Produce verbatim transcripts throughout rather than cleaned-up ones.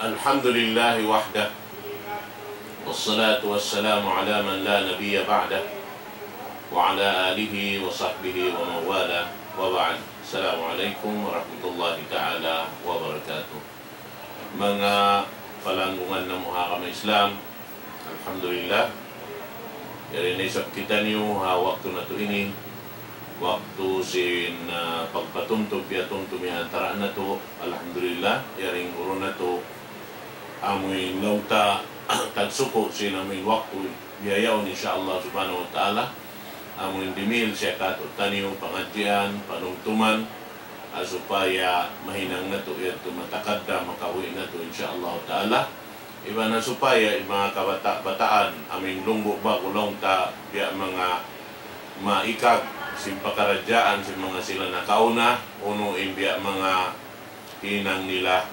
الحمد لله وحده، والصلاة والسلام على من لا نبي بعده، وعلى آله وصحبه ومن والاه، وبعد. السلام عليكم ورحمة الله تعالى وبركاته. Manga palanggungan namu' ha agama Islam, alhamdulillah, yari na isab kitaniyu ha waktu natu' ini, waktu sin, ah, pagpatumtum, piyatumtum ha antara' natu', alhamdulillah, yari in guru natu', amuin laung ta tagsuku' sin amuin waktu bihaun, insya Allah subhanahu wa ta'ala, amuin dimihil siya kātu'niyu pangadjian, panumtuman, ah, supaya mahinang natu' yadtu matakaddam, makabuhi' natu', insya Allah ta'ala. Iban na supaya in manga kabata'-bataan, amuin lumbu' ba'gu laung ta, biya' manga maikag sin pakaradjaan sin manga sila nakauna, unu in biya' manga hinang nila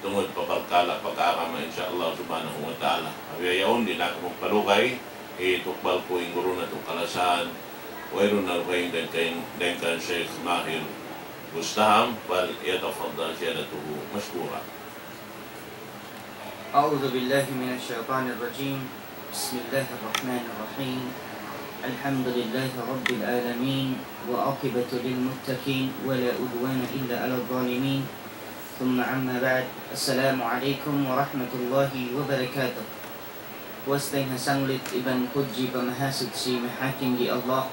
tungud pa parkala' pag-agama, insya Allah subhanahu wa ta'ala. Bihaun, di' na aku magpalugay, hitukbal ku in guru natu' kalasahan, wayruun na lugay dayn kan, dayn kan Sheikh Mahir Bustaham, فليتفضل سيادته مشكورا. أعوذ بالله من الشيطان الرجيم. بسم الله الرحمن الرحيم. الحمد لله رب العالمين، والعاقبة للمتقين، ولا عدوان إلا على الظالمين. ثم أما بعد، السلام عليكم ورحمة الله وبركاته. Puas dayn ha sanglit iban pudji pa Mahasuchi Mahatinggi Allah.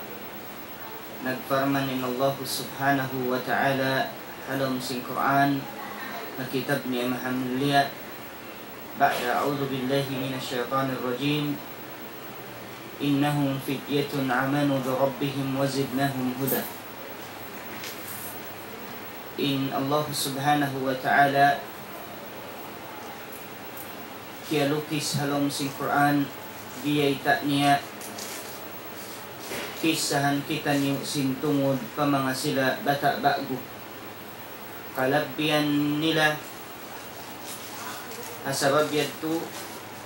Nagparman in Allah subhanahu wa ta'ala ha lawm sin Qur'an, ha kitab niya mahamulliya, بعد أعوذ بالله من الشيطان الرجيم، إنهم فتية آمنوا بربهم وزدناهم هدى. In Allah subhanahu wa ta'ala kiyalukis ha lawm sin Qur'an, biyayta' niya, kissahan kitaniyu sin tungud pa manga sila bata' ba'gu. Kalabbihan nila, ha sabab yadtu,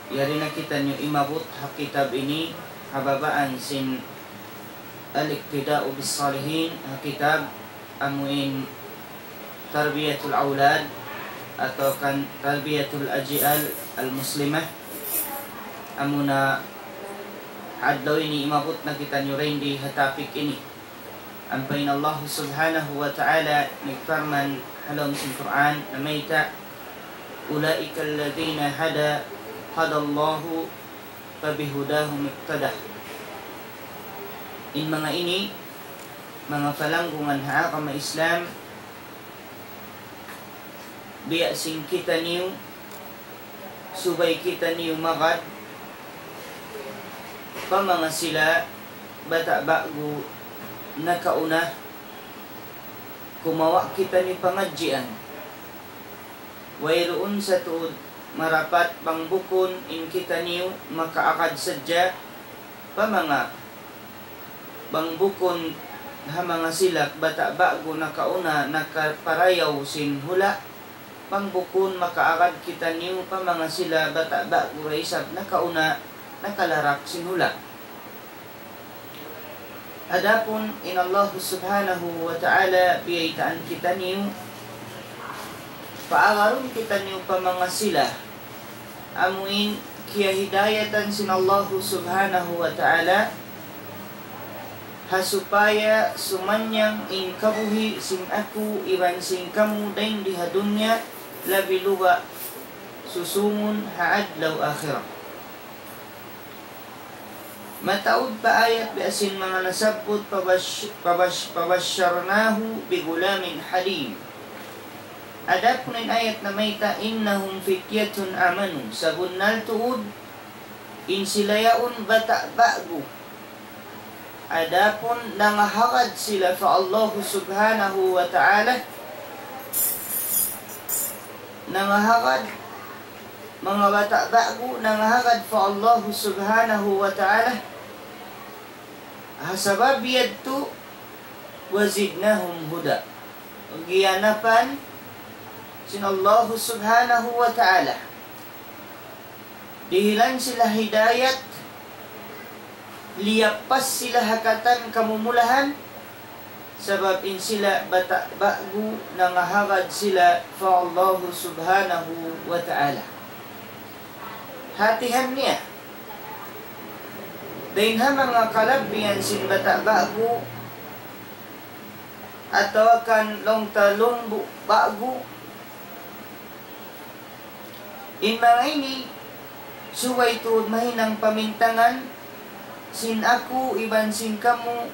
yari na kitaniyu imabut ha kitab ini, ha babaan sin الاقتداء بالصالحين, ha kitab amuin تربية الأولاد atawa kan تربية الأجيال المسلمة. Amuna adlaw ini imabut na kitaniyu dayn di ha topic ini. Ampa in Allah subhanahu wa ta'ala nagparman ha lawm sin Qur'an namayta', أولئك الذين هدى، هدى الله فبهداهم اقتده. In manga ini, manga palanggungan ha agama Islam, biya' sin kitaniyu, subay kitaniyu magad pa manga sila bata' ba'gu nakauna, kumawa' kitaniyu pangadjian. Wayruun sa tuud marapat bang bukun in kitaniyu makaagad sadja pa manga, bang bukun ha manga sila bata' ba'gu nakauna nakaparayaw sin hula', bang bukun makaagad kitaniyu pa manga sila bata' ba'gu da isab nakauna nakalarak sin hula'. Adapun in Allah subhanahu wa ta'ala biyaytaan kitaniyu, paagarun kitaniyu pa manga sila amuin kiyahidayatan sin Allah subhanahu wa ta'ala, ha supaya sumanyang in kabuhi' sin aku iban sin kamu dayn di ha dunya, labi luba' susungun ha adlaw akhirat. Mataud pa ayat biya' sin manga nasabbut, فبش-، فبش-، فبشرناه بغلام حليم. Adapun in ayat namayta', إنهم فتية آمنوا, sabunnal tuud in sila yaun bata' ba'gu. Adapun nangahagad sila pa Allah subhanahu wa ta'ala, nangahagad manga bata' ba'gu nangahagad pa Allah subhanahu wa ta'ala. Ha sabab yadtu, وزدناهم هدى. Giyanapan sin Allah subhanahu wa ta'ala. Dihilan sila hidayat, liyappas sila ha katan kamumulahan, sabab in sila bata' ba'gu nangahagad sila pa Allah subhanahu wa ta'ala. hatihan niya. Dayn ha manga kalabbihan sin bata' ba'gu, atawa kan laung ta lumbu' ba'gu. In manga ini, subay tuud mahinang pamintangan sin aku iban sin kamu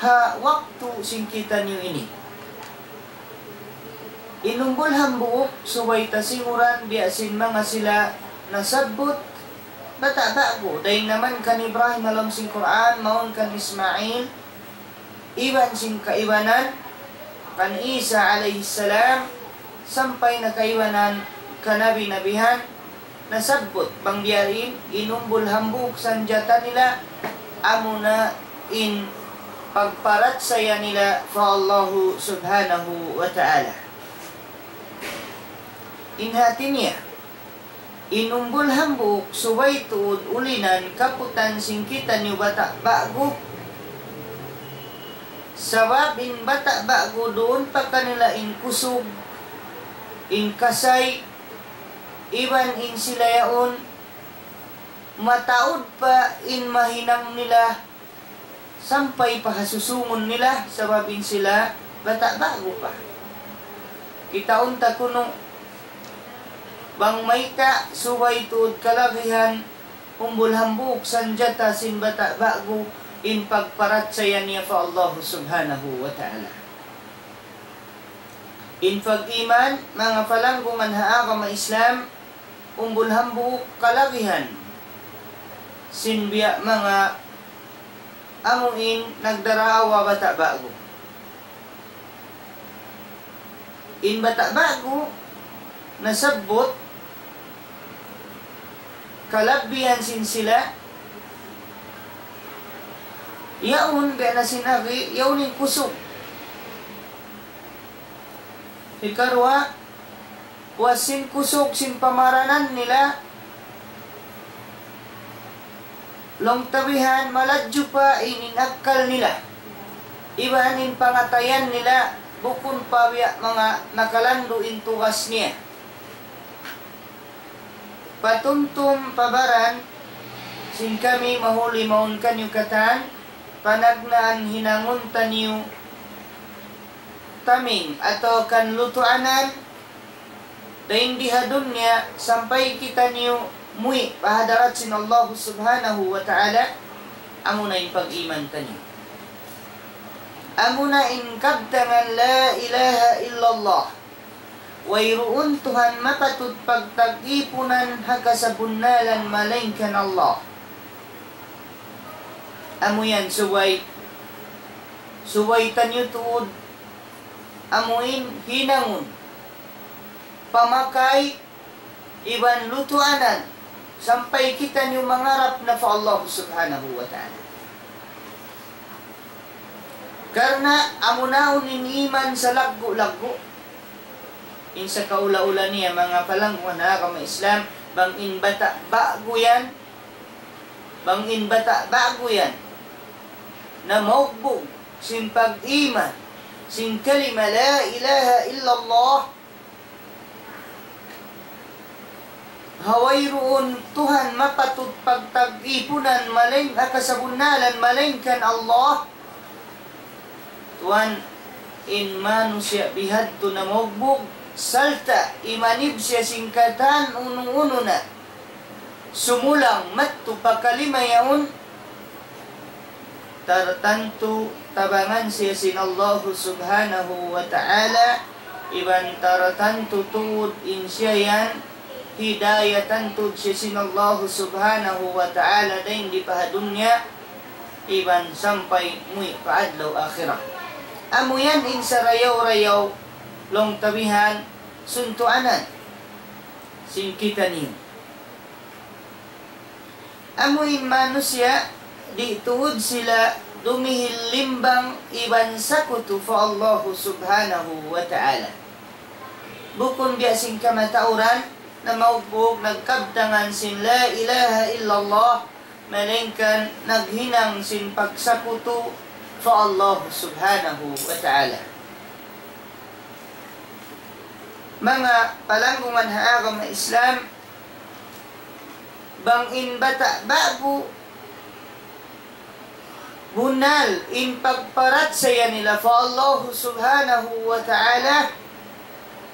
ha waktu sin kitaniyu ini. In umbul hambuuk, subay ta singuran biya' sin manga sila nasabbut, bata' ba'gu, dayn naman kan Ibrahim ha lawm sin Qur'an, mawn kan Ismail, iban sin kaibanan, kan Isa alayhi salam, sampay na kaibanan kanabi-nabihan, nasabbut bang biya' diin, in umbul hambuuk sanjata nila, amuna in pagparachaya nila pa Allahu Subhanahu wa Ta'ala. In hati niya, in umbul hambuuk subay tuud ulinan kaputan sin kitaniyu bata' ba'gu. Sabab in bata' ba'gu duun pa kanila in kusug, in kasay, iban in sila yaun mataud pa in mahinang nila sampay pa ha susungun nila, sabab in sila bata' ba'gu pa. Kitaun ta kunu' bang mayta' subay tuud kalagihan, umbul hambuuk sanjata sin bata' ba'gu in pagparachaya niya pa Allah Subhanahu wa Ta'ala. In pag-iman, manga palanggungan ha agama Islam, umbul hambuuk kalagihan sin biya' manga amuin nagdaraawa bata' ba'gu. In bata' ba'gu nasabbut kalabbihan sin sila, yaun biya' na sin agi, yaun in kusug. Hikaruwa, puas sin kusug sin pamaranan nila, laung ta bihan maladju pa in, in akkal nila. Iban in pangatayan nila, bukun pa biya' manga nakalandu' in tugas niya. Patumtum pa baran sin kami mahuli mawn kaniyu katan, panagnaan hinangun taniyu taming atawa kan lutuanan, dayn di ha dunya sampay kitaniyu muwi' pa hadarat sin Allah Subhanahu wa Ta'ala, amuna in pag-iman taniyu. Amuna in kabtangan la ilaha illallah. Wayruun Tuhan mapatut pagtag-ipunan ha kasabunnalan malaingkan Allah. Amu yan subay, subay taniyu tuud amuin hinangun, pamakay, iban lutuanan, sampay kitaniyu mangarap na pa Allah Subhanahu wa Ta'ala. Karna' amu na in iman salaggu'-laggu'. In sakaula-ula niya, manga palanggungan ha agama Islam, bang in bata' ba'gu yan, bang in bata' ba'gu yan, namaugbug sin pag-iman sin kalima la ilaha illallah, ha wayruun Tuhan mapatut pagtag-ipunan malaing, ha kasabunnalan malaingkan Allah. Tuwan, in manusiya' bihadtu namaugbug, sarta' imanib siya sin katan unu-unu na sumulang madtu pa kalima yaun, tartantu tabangan siya sin Allahu Subhanahu wa Ta'ala, iban tartantu tuud in siya yan, hidayatan tuud siya sin Allahu Subhanahu wa Ta'ala dayn di pa ha dunya, iban sampay muwi' pa adlaw akhirat. Amu yan in sarayaw-rayaw, laung ta bihan, suntuanan sin kitaniyu. Amu in manusiya', di' tuud sila dumihil limbang iban sakutu pa Allahu Subhanahu wa Ta'ala. Bukun biya' sin kamatauran, namaugbug nagkabtangan sin la ilaha illallah, malaingkan naghinang sin pagsakutu pa Allahu Subhanahu wa Ta'ala. Manga palanggungan ha agama Islam, Bang in bata' ba'gu bunnal in pagparachaya nila pa Allah Subhanahu wa Ta'ala,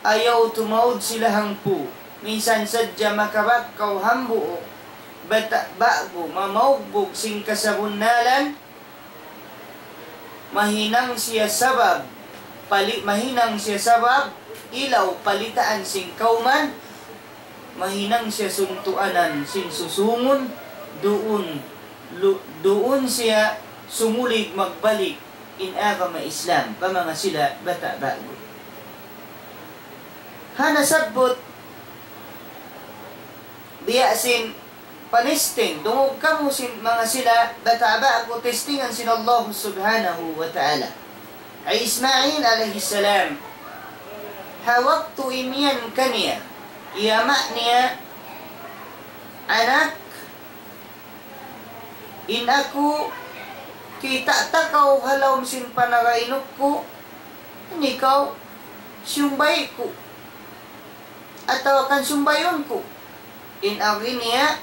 ayaw tumaud sila hangpu'. Minsan sadja makabak kaw hambuuk bata' ba'gu mamaugbug sin kasabunnalan, mahinang siya sabab, pali-, mahinang siya sabab, ilaw palitaan sin kawman, mahinang siya suntuanan sin susungun, duun, lu-, duun siya sumulig magbalik in agama Islam, pa manga sila bata' ba'gu. Ha nasabbut, biya' sin panesting, dungug kamu sin manga sila bata' ba'gu testingan sin Allah Subhanahu wa Ta'ala. Hi Ismail alayhi salam, ha waktu imiyan kaniya in ama' niya, "Anak, in aku kita' ta kaw ha lawm sin panag'ainuk ku, in ikaw siyumbay ku, atawa kan sumbayun ku." In agi niya,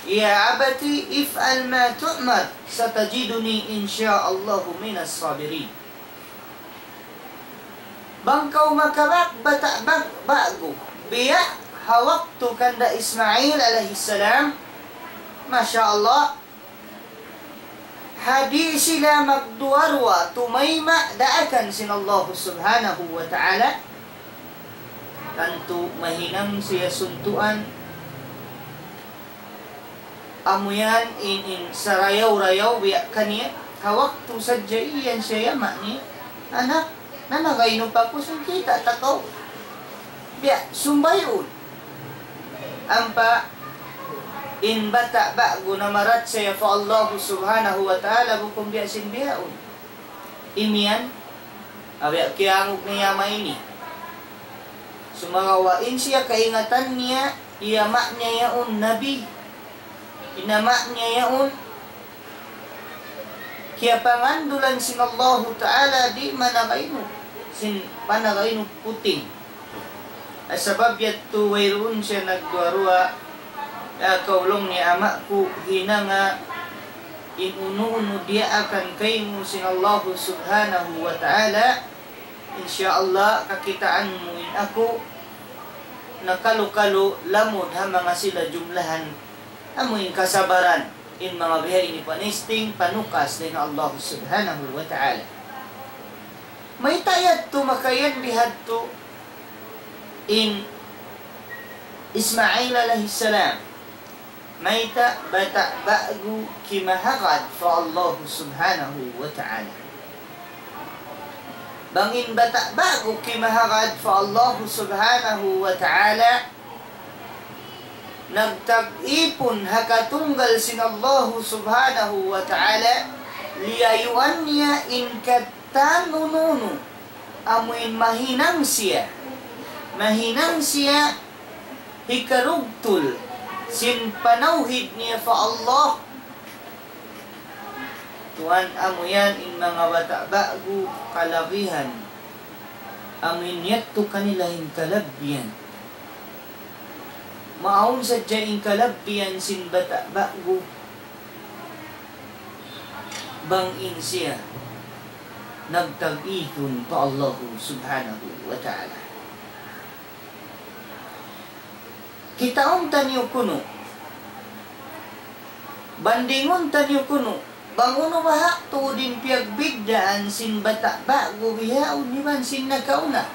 "يا أبت افعل ما تؤمر ستجدني إن شاء الله من الصابرين." Bang kaw makabak bata' bag-, ba'gu, biya' ha waktu kanda Ismail alayhi salam, masha Allah, ha di' sila magduwa-ruwa, tumayma' daakan sin Allah Subhanahu wa Ta'ala. Tantu mahinang siya suntuan. Amu yan in, in sarayaw-rayaw biya' kaniya. Ha waktu sadja iyan siya ama' niya, "Anak, nanag'ainuk aku, sin kita' ta kaw. Biya' sumbayun." Ampa in bata' ba'gu namarachaya pa Allah Subhanahu wa Ta'ala bukun biya' sin bihaun. Imiyan, awi kiyangug niya ama' ini. Sumagawa' in siya kaingatan niya, in ama' niya yaun nabi. In ama' niya yaun kiyapangandulan sin Allahu Ta'ala di' manag'ainuk, sin panag'ainuk puting. Sabab yadtu wayruun siya nagduwa-ruwa, ya kaw laung niya ama' ku, hinanga in unu-unu diyaakan kaymu sin Allahu Subhanahu wa Ta'ala, insya Allah kakitaan mu in aku, nakalu-kalu lamud ha manga sila jumlahan, amu in kasabaran, in manga biha ini panesting, panukas dayn ha Allah Subhanahu wa Ta'ala. Mayta' yadtu makayan bihadtu in Ismail alayhi salam? Mayta' bata' ba'gu kimahagad pa Allah Subhanahu wa Ta'ala? Bang in bata' ba'gu kimahagad pa Allah Subhanahu wa Ta'ala, nagtag-ipun ha katunggal sin Allah Subhanahu wa Ta'ala, liyayuan niya in katan unu-unu, amuin mahinang siya, mahinang siya hikarugtul sin panawhid niya pa Allah. Tuwan, amu yan in manga bata' ba'gu kalagihan. Amuin yadtu kanila in kalabbihan. Maawn sadja in kalabbihan sin bata' ba'gu bang in siya nagtag-ipun pa Allahu Subhanahu wa Ta'ala. Kitaun taniyu kunu', bandingun taniyu kunu', bang unu baha' tuud in piyagbiddaan sin bata' ba'gu bihaun iban sin nakauna.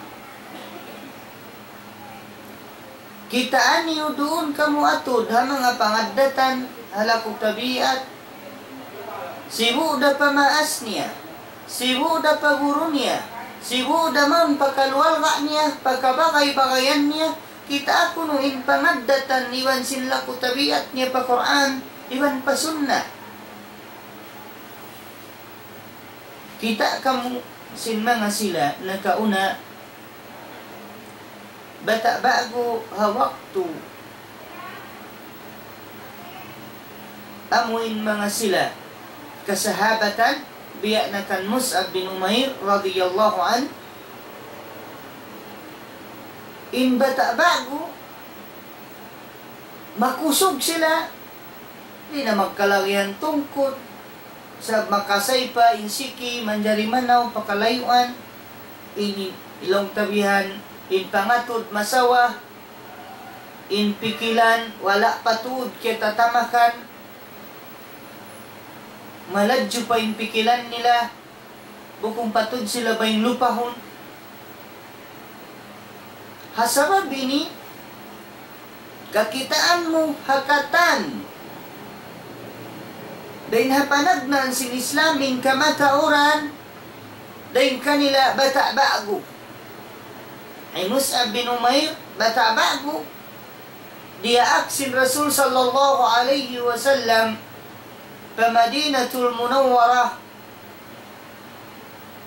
Kitaa niyu duun kamu atud ha manga pangaddatan, ha laku tabiat, sibu' da pa maas niya, sibu' da pa guru niya, sibu' da mawn pa kaluarga niya, pa kabagay-bagayan niya, kitaa kunu' in pangaddatan iban sin laku tabiat niya pa Qur'an iban pa Sunnah. Kita' kamu sin manga sila nakauna, bata' ba'gu ha waktu amuin manga sila kasahabatan, biya' na kan Mus'ab bin Umair radiyallahu anhu, in bata' ba'gu Makusug sila, di' na magkalagihan tungkut, sa' makasaypa in siki, manjari manaw, pakalayuan, in laung ta bihan, in pangatud masawa, in pikilan, wala' pa tuud kiyatatamakan, maladju pa in pikilan nila, bukun pa tuud sila bang lupahun. Ha sabab ini, kakitaan mu ha katan, dayn ha panagnaan sin Islam in kamatauran, dayn kanila bata' ba'gu. Hi Mus'ab bin Umair, bata' ba'gu, diyaak sin Rasul sallallahu alayhi wasallam pa Madinatul Munawwarah,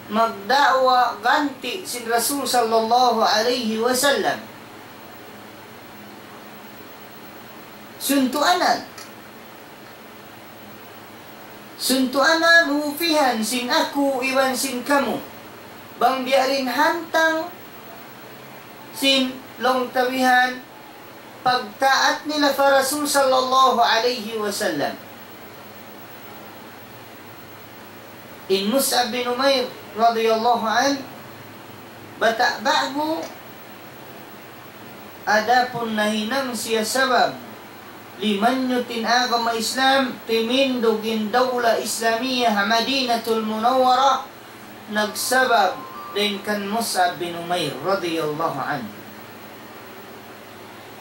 magda'wa ganti' sin Rasul sallallahu alayhi wasallam. Suntuanan. Suntuanan ufihan sin aku iban sin kamu. Bang biya' diin hantang sin laung ta bihan pagtaat nila pa Rasul sallallahu alayhi wasallam. In Mus'ab bin Umair radiyallahu anhu, bata' ba'gu, adapun nahinang siya sabab, limanyut in agama Islam, timindug in dawla Islamiyah ha Madinatul Munawwarah, nagsabab dayn kan Mus'ab bin Umair radiyallahu anhu.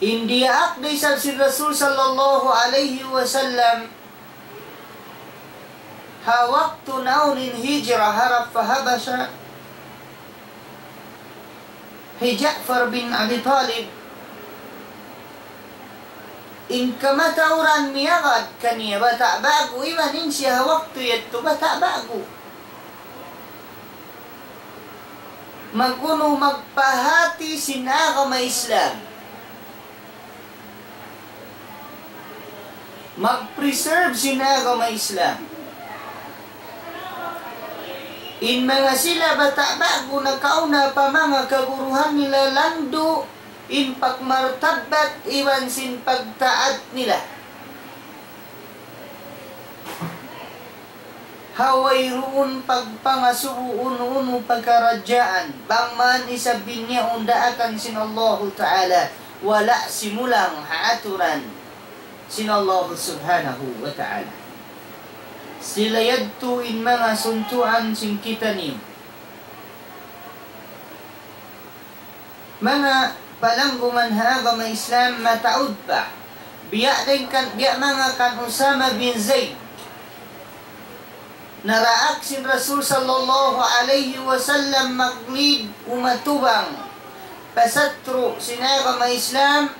In diyaak da isab sin Rasul sallallahu alayhi wasallam, ha waktu naun in hijra harap pa Habasha, hi Ja'far bin Abi Talib, in kamatauran miyagad kaniya bata' ba'gu, iban in siya ha waktu yadtu bata' ba'gu. Mag'unu magpahāti sin agama Islam. Mag-preserve sin agama Islam. In manga sila bata' ba'gu nakauna pa manga kaguruhan nila landu' in pagmartabbat iban sin pagtaat nila. Ha wayruun pagpangasubu unu-unu pakaradjaan, bang man isab biyaun daakan sin Allahu Ta'ala, wala' simulang ha aturan sin Allahu Subhanahu wa Ta'ala. Sila yadtu in manga suntuan sin kitaniyu. Manga palanggungan ha agama Islam mataud pa. Biya' dayn kan, biya' manga kan Usama bin Zaid. Naraak sin Rasul sallallahu alayhi wasallam mag-lead umatubang pasatru' sin agama Islam.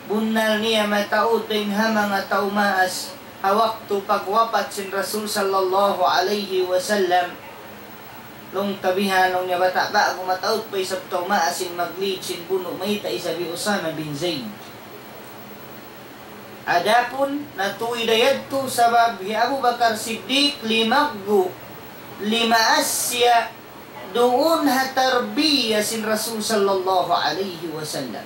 Bunnal niya mataud dayn ha manga tau maas ha waktu pagwapat sin Rasul sallallahu alayhi wasallam. Laung ta bihan, laung niya bata' ba'gu mataud pa isab tau maas in mag-lead sin bunu' mayta' isab hi Usama bin Zaid. Adapun natuy da yadtu sabab hi Abu Bakar Siddiq limaggu', limaas siya duun ha tarbiya sin Rasul sallallahu alayhi wasallam.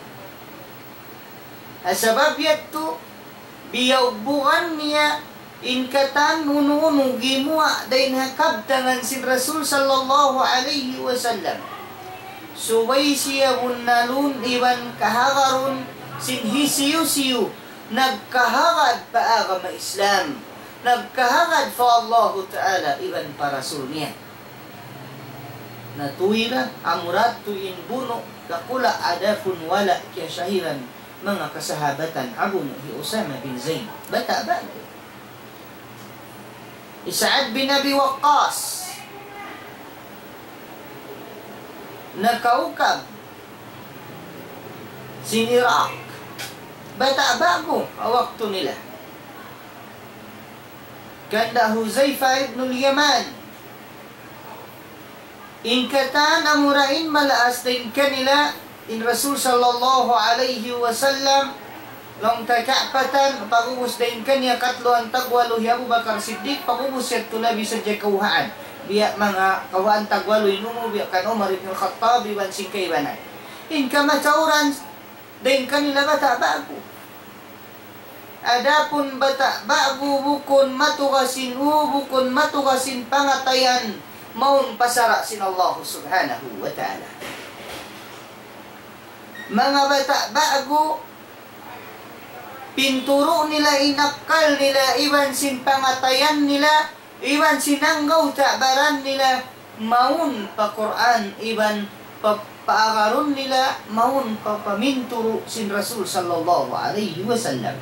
Ha sabab yadtu, biyaubugan niya in katan unu-unu gimuwa' dayn ha kabtangan sin Rasul sallallahu alayhi wasallam. Subay siya bunnalun iban kahagarun sin hisiyu-siyu nagkahagad pa agama Islam, nagkahagad pa Allahu Ta'ala iban pa Rasul niya. Natuy ra, amura tuud in bunu' dakula', adapun wala' kiyasahiran manga kasahabatan ha bunu' hi Usama bin Zaid. Bata' ba'gu. Hi Sa'ad bin Abi Waqqas, nakaukab sin Iraq. Bata' ba'gu ha waktu nila. Kanda Huzaifa ibnul Yaman. In katan amura in malaas dayn kanila in Rasul sallallahu alayhi wasallam, laung ta kaapatan, pag'ubus dayn kaniya katluan tagwalu hi Abu Bakar Siddiq, pag'ubus yadtu labi sadja kawhaan. Biya' manga kawhaan tagwalu in umur, biya' kan Umar ibn Khattab, iban sin kaibanan. In kamatauran, dayn kanila bata' ba'gu. Adapun bata' ba'gu bukun matugas in u, bukun matugas in pangatayan, mawn pa sara' sin Allah Subhanahu wa Ta'ala. Manga bata' ba'gu, pinturu' nila in akkal nila, iban sin pangatayan nila, iban sin anggawta' baran nila, mawn pa Qur'an, iban pa, paagarun nila, mawn pa paminturu' sin Rasul sallallahu alayhi wasallam.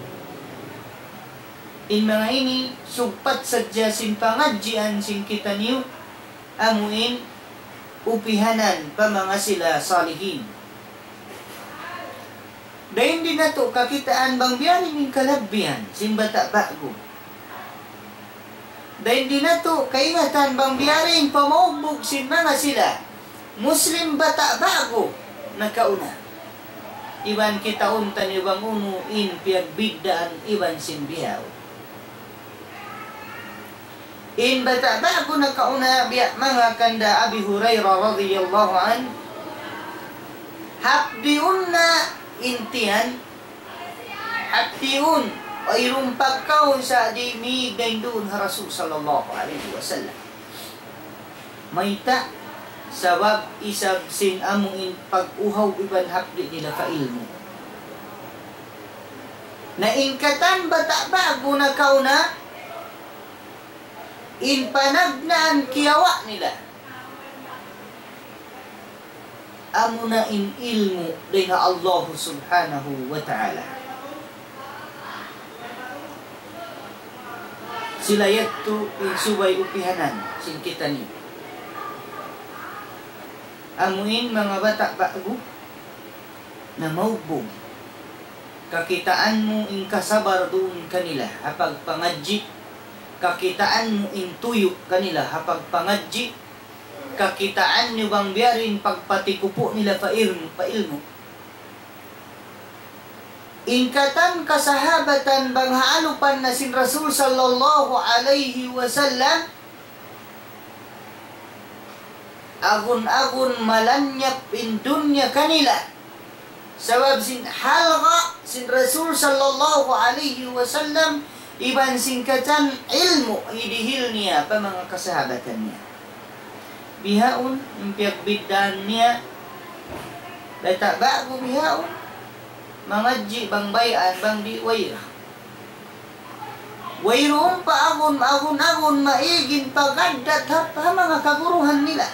In manga ini, sugpat sadja sin pangadjian sin kitaniyu, amu in upihanan pa manga sila salihin. Dayn di natu' kakitaan bang biya' diin in kalabbihan sin bata' ba'gu. Dayn di natu' kaingatan bang biya' diin in pamaugbug sin manga sila Muslim bata' ba'gu nakauna. Iban kitaun taniyu bang unu in piyagbiddaan iban sin bihaun. In bata' ba'gu nakauna biya' manga kanda Abi Hurairah radiyallahu anhu, hapdiun na in tiyan, hapdiun, wayruun pagkaun sa' di' mīg dayn duun ha Rasul sallallahu alayhi wasallam. Mayta'? Sabab isab sin amu in pag-uhaw iban hapdi' nila pa ilmu'. Na in katan bata' ba'gu nakauna, in panagnaan kiyawa' nila, amuna in ilmu' dayn ha Allah Subhanahu wa Ta'ala. Sila yadtu in subay upihanan sin kitaniyu. Amu in manga bata' ba'gu na maugbug. Kakitaan mu in kasabar duun kanila ha pagpangadji'. Kakitaan mu in tuyu' kanila ha pagpangadji'. Kakitaan niyu bang biya' diin pagpatikupu' nila pa ilmu', pa ilmu'. In katan kasahabatan bang ha alupan na sin Rasul sallallahu alayhi wasallam, agun-agun malanyap in dunya kanila. Sabab sin halga' sin Rasul sallallahu alayhi wasallam, iban sin katan ilmu' hidihil niya pa manga kasahabatan niya. Bihaun in piyagbiddaan niya, bata' ba'gu bihaun, mangadji' bang bay'an bang di' wayra. Wayruun pa agun, agun-agun maig in pag-addat ha, ha manga kaguruhan nila.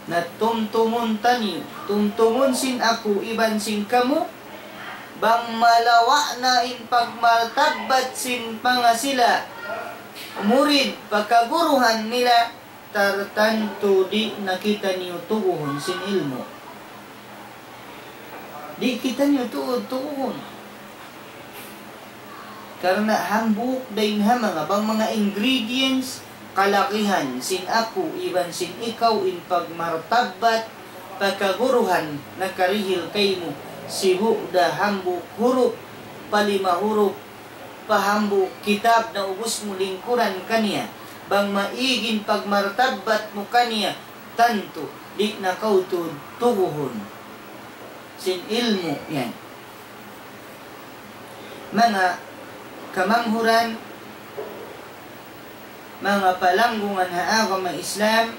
Na tumtumun taniyu, tumtumun sin aku iban sin kamu, bang malawa' na in pagmartabbat sin manga sila murid pa kaguruhan nila, tartantu di' na kitaniyu tuguhun sin ilmu'. Di' kitaniyu tuud tuguhun. Karna' hambuuk dayn ha manga, bang manga ingredients, kalagihan sin aku iban sin ikaw in pagmartabbat pa kaguruhan nakarihil kaymu, sibu' da hambuuk hurup, pa lima hurup, pa hambuuk kitab na ubus mu lingkuran kaniya, bang maig in pagmartabbat mu kaniya, tantu di' na kaw tuud tuguhun sin ilmu' yan. Manga kamanghuran, manga palanggungan ha agama Islam,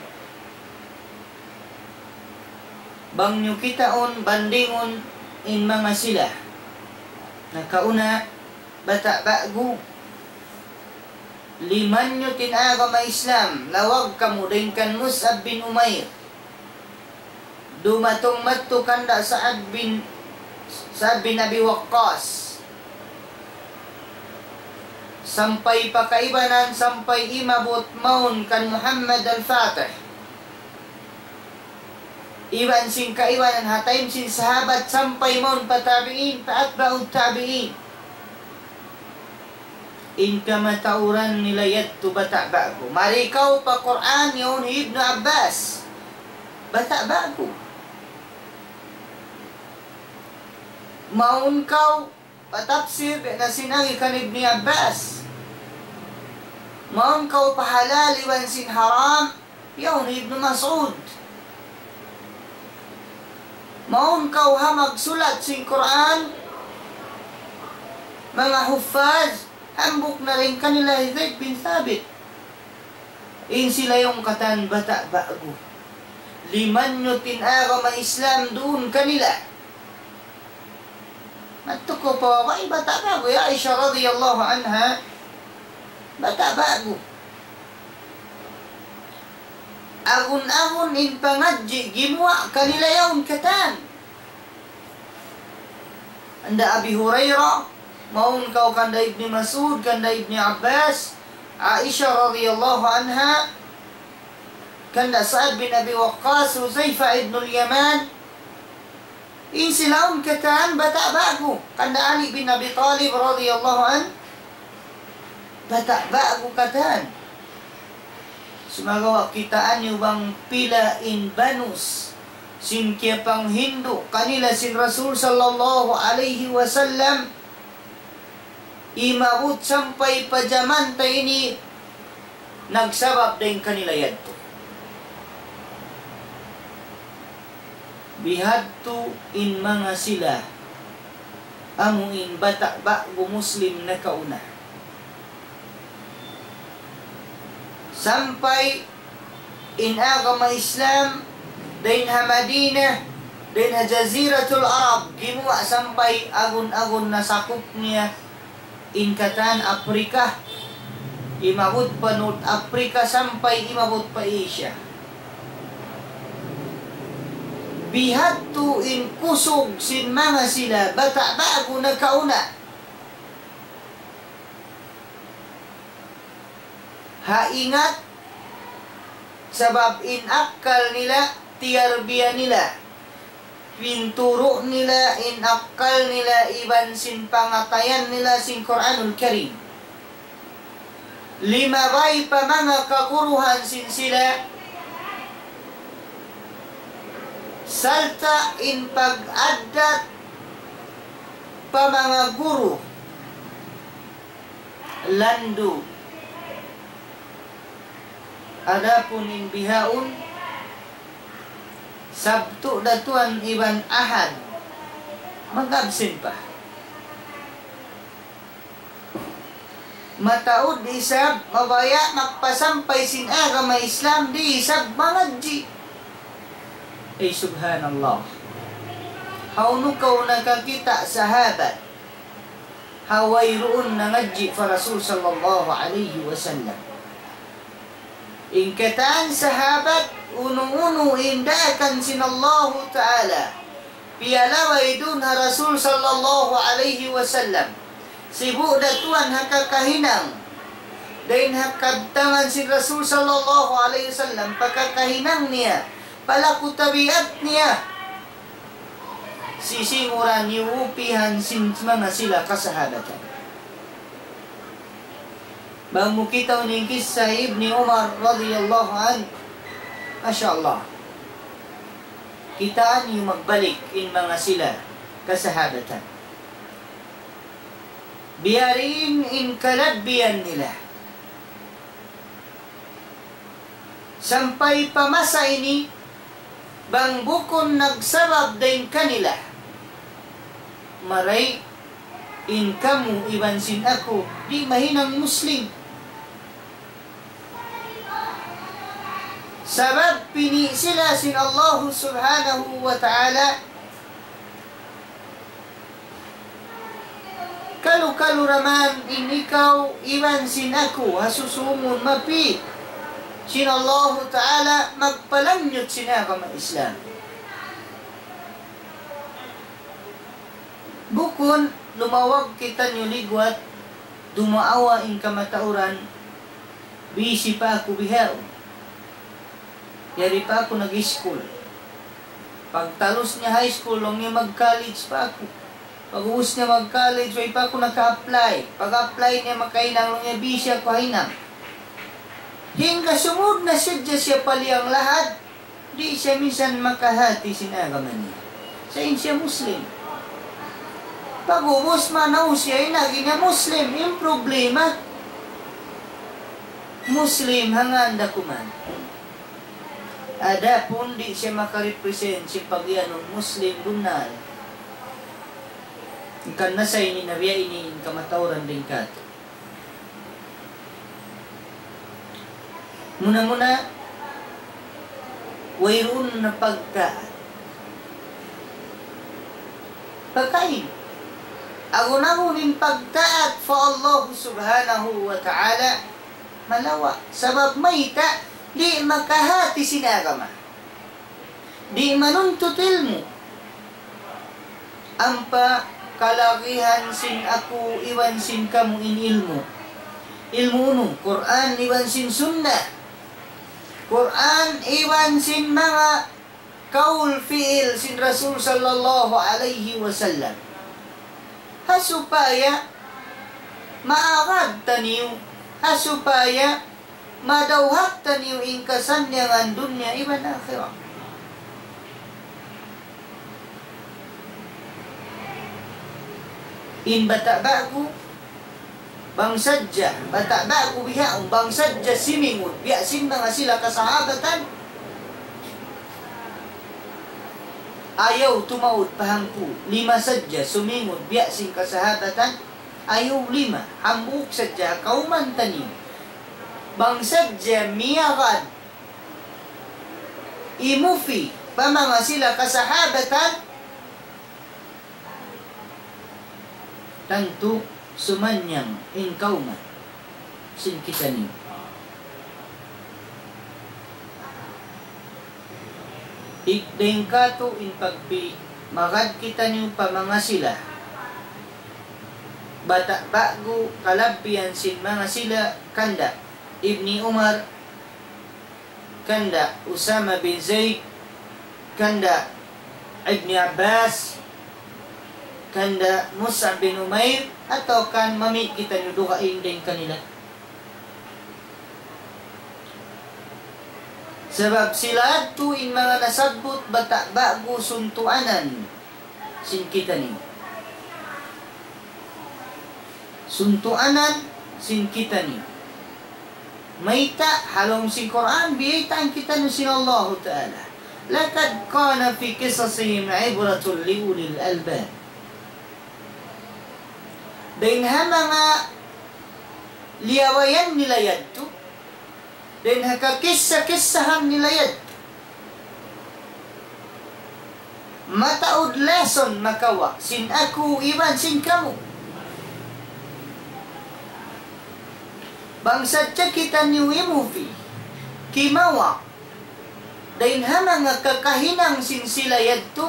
bang niyu kitaun, bandingun in manga sila nakauna, bata' ba'gu, limanyut in agama Islam, lawag kamu dayn kan Mus'ab bin Umair. Dumatung madtu kanda Sa'ad bin, Sa'ad bin Abi Waqqas. Sampay pa kaibanan, sampay imabut mawn kan Muhammad al-Fatih. Iban sin kaibanan ha time sin sahabat sampay mawn pa tabi'in, pa atba'ut tabi'in. In kamatauran nila yadtu bata' ba'gu. Mari kaw pa Qur'an, yaun hi Ibnu Abbas. Bata' ba'gu. Mawn kaw pa tafsir, biya' na sin agi kan Ibni Abbas. Mawn kaw pa halal iban sin haram, yaun hi Ibnu Mas'ud. Mawn kaw ha magsulat sin Qur'an, manga huffaz, hambuuk na dayn kanila hi Zaid bin Thabit. In sila yaun katan bata' ba'gu. Limanyut in agama Islam duun kanila. Madtu kaw pa babai, bata' ba'gu, hi Aisha radiyallahu anha, bata' ba'gu. Agun-agun in pangadji' gimuwa' kanila yaun katan. Kanda Abi Hurairah, mawn kaw kanda Ibni Mas'ud, kanda Ibni Abbas, Aisha radiyallahu anha, kanda Sa'ad bin Abi Waqqas, Huzaifa ibnul Yaman, in sila yaun katan bata' ba'gu, kanda Ali bin Abi Talib radiyallahu anhu, bata' ba'gu katan. Sumagawa' kitaa niyu bang pila in banus sin kiyapanghindu' kanila sin Rasul sallallahu alayhi wasallam, imabut sampay pa jaman ta ini nagsabab dayn kanila yadtu. Bihadtu in manga sila, amu in bata' ba'gu Muslim nakauna. Sampay in agama Islam dayn ha Madinah, dayn ha Jaziratul Arab, gimuwa' sampay agun-agun na sakup niya in katan Afrika, imabut pa North Africa sampay imabut pa Asia. Bihadtu in kusug sin manga sila bata' ba'gu nakauna. Ha ingat, sabab in akkal nila, tiyarbiya nila, pinturu' nila in akkal nila iban sin pangatayan nila sin Qur'anul Karim. Limabay pa manga kaguruhan sin sila, sarta' in pag-addat pa manga guru, landu'. Adapun in bihaun, Sabtu da tuwan iban Ahad, mag-absent pa. Mataud isab, mabaya' magpasampay sin agama Islam, di' isab mangadji'. Ay, subhanallah. Hawnu kaw nakakita' sahabat ha wayruun nangadji' pa Rasul sallallahu alayhi wasallam? In katan sahabat, unu-unu in daakan sin Allahu Ta'ala piyalabay duun ha Rasul sallallahu alayhi wasallam. Sibu' da tuwan ha kakahinang. Dayn ha kabtangan sin Rasul sallallahu alayhi wasallam, pa kakahinang niya, pa laku tabiat niya. Sisinguran iyuupihan sin manga sila kasahabatan. Bang mu kitaun in kissa Ibni Umar radiyallahu anhu. Masha Allah. Kitaa niyu magbalik in manga sila kasahabatan. Biya' diin in kalabbihan nila. Sampay pa masa ini, bang bukun nagsabab dayn kanila, maray in kamu iban sin aku di' mahinang Muslim. Sabab pini' sila sin Allahu Subhanahu wa Ta'ala. Kalu-kalu da man in ikaw iban sin aku ha susūngun mapi' sin Allahu Ta'ala magpalanyut sin agama Islam. Bukun lumawag kitaniyu ligwat, dumaawa in kamatauran, busy pa aku bihaun. Yari pa aku nag-iskul. Pagtalus niya high school, laung niya mag-college pa aku. Pag-ubus niya mag-college, way pa aku naka-apply. Pag-apply niya makahinang, laung niya busy aku ha hinang. Hangga sumūd na sadja siya pa liyang lahad, di' siya minsan makahati sin agama niya. Sa' in siya Muslim. Pag-ubus manaw siya, in agi niya Muslim. In problema, Muslim, hangkan da kuman. Adapun di' siya makarepresent sin pag-iyanun Muslim bunnal, hangkan na sa ini na biya' ini in kamatauran dayn kātu'. Muna-muna, wayruun na pagtaat. Pakain. Agun-agun in pagtaat pa Allah Subhanahu wa Ta'ala, malawa'. Sabab mayta', di' makahati sin agama. Di' manuntut ilmu'. Ampa kalagihan sin aku iban sin kamu in ilmu'. Ilmu' unu? Qur'an iban sin Sunnah. Qur'an iban sin manga kaul fi'il sin Rasul sallallahu alayhi wasallam. Ha supaya maagad taniyu, ha supaya madawhat taniyu in kasannyangan dunya iban akhirat. In bata' ba'gu, bang sadja, bata' ba'gu bihaun, bang sadja simingud biya' sin manga sila kasahabatan, ayaw tumaud pa hangpu', lima sadja sumingud biya' sin kasahabatan, ayaw lima, hambuuk sadja, kawman taniyu. Bang sadja miyagad, imufi pa manga sila kasahabatan, tantu sumannyang in kawman sin kitaniyu. Dayn kātu' in pagpi-, magad kitaniyu pa manga sila bata' ba'gu, kalabbihan sin manga sila kanda' Ibni Umar, kanda' Usama bin Zaid, kanda' Ibni Abbas, kanda' Mus'ab bin Umair, atawa kan mami' kitaniyu dugaing dayn kanila. Sabab sila yadtu in manga nasabbut bata' ba'gu suntuanan sin kitaniyu. Suntuanan sin kitaniyu. Mayta', ha lawm sin Qur'an, biyaytaan kitaniyu sin Allahu Ta'ala. لقد كان في قصصهم عبرة لأولي الألباب. Dayn ha manga liyabayan nila yadtu, dayn ha kakissa-kissahan nila yadtu, mataud lesson makawa' sin aku iban sin kamu. Bang sadja kitaniyu imufi, kimawa' dayn ha manga kakahinang sin sila yadtu,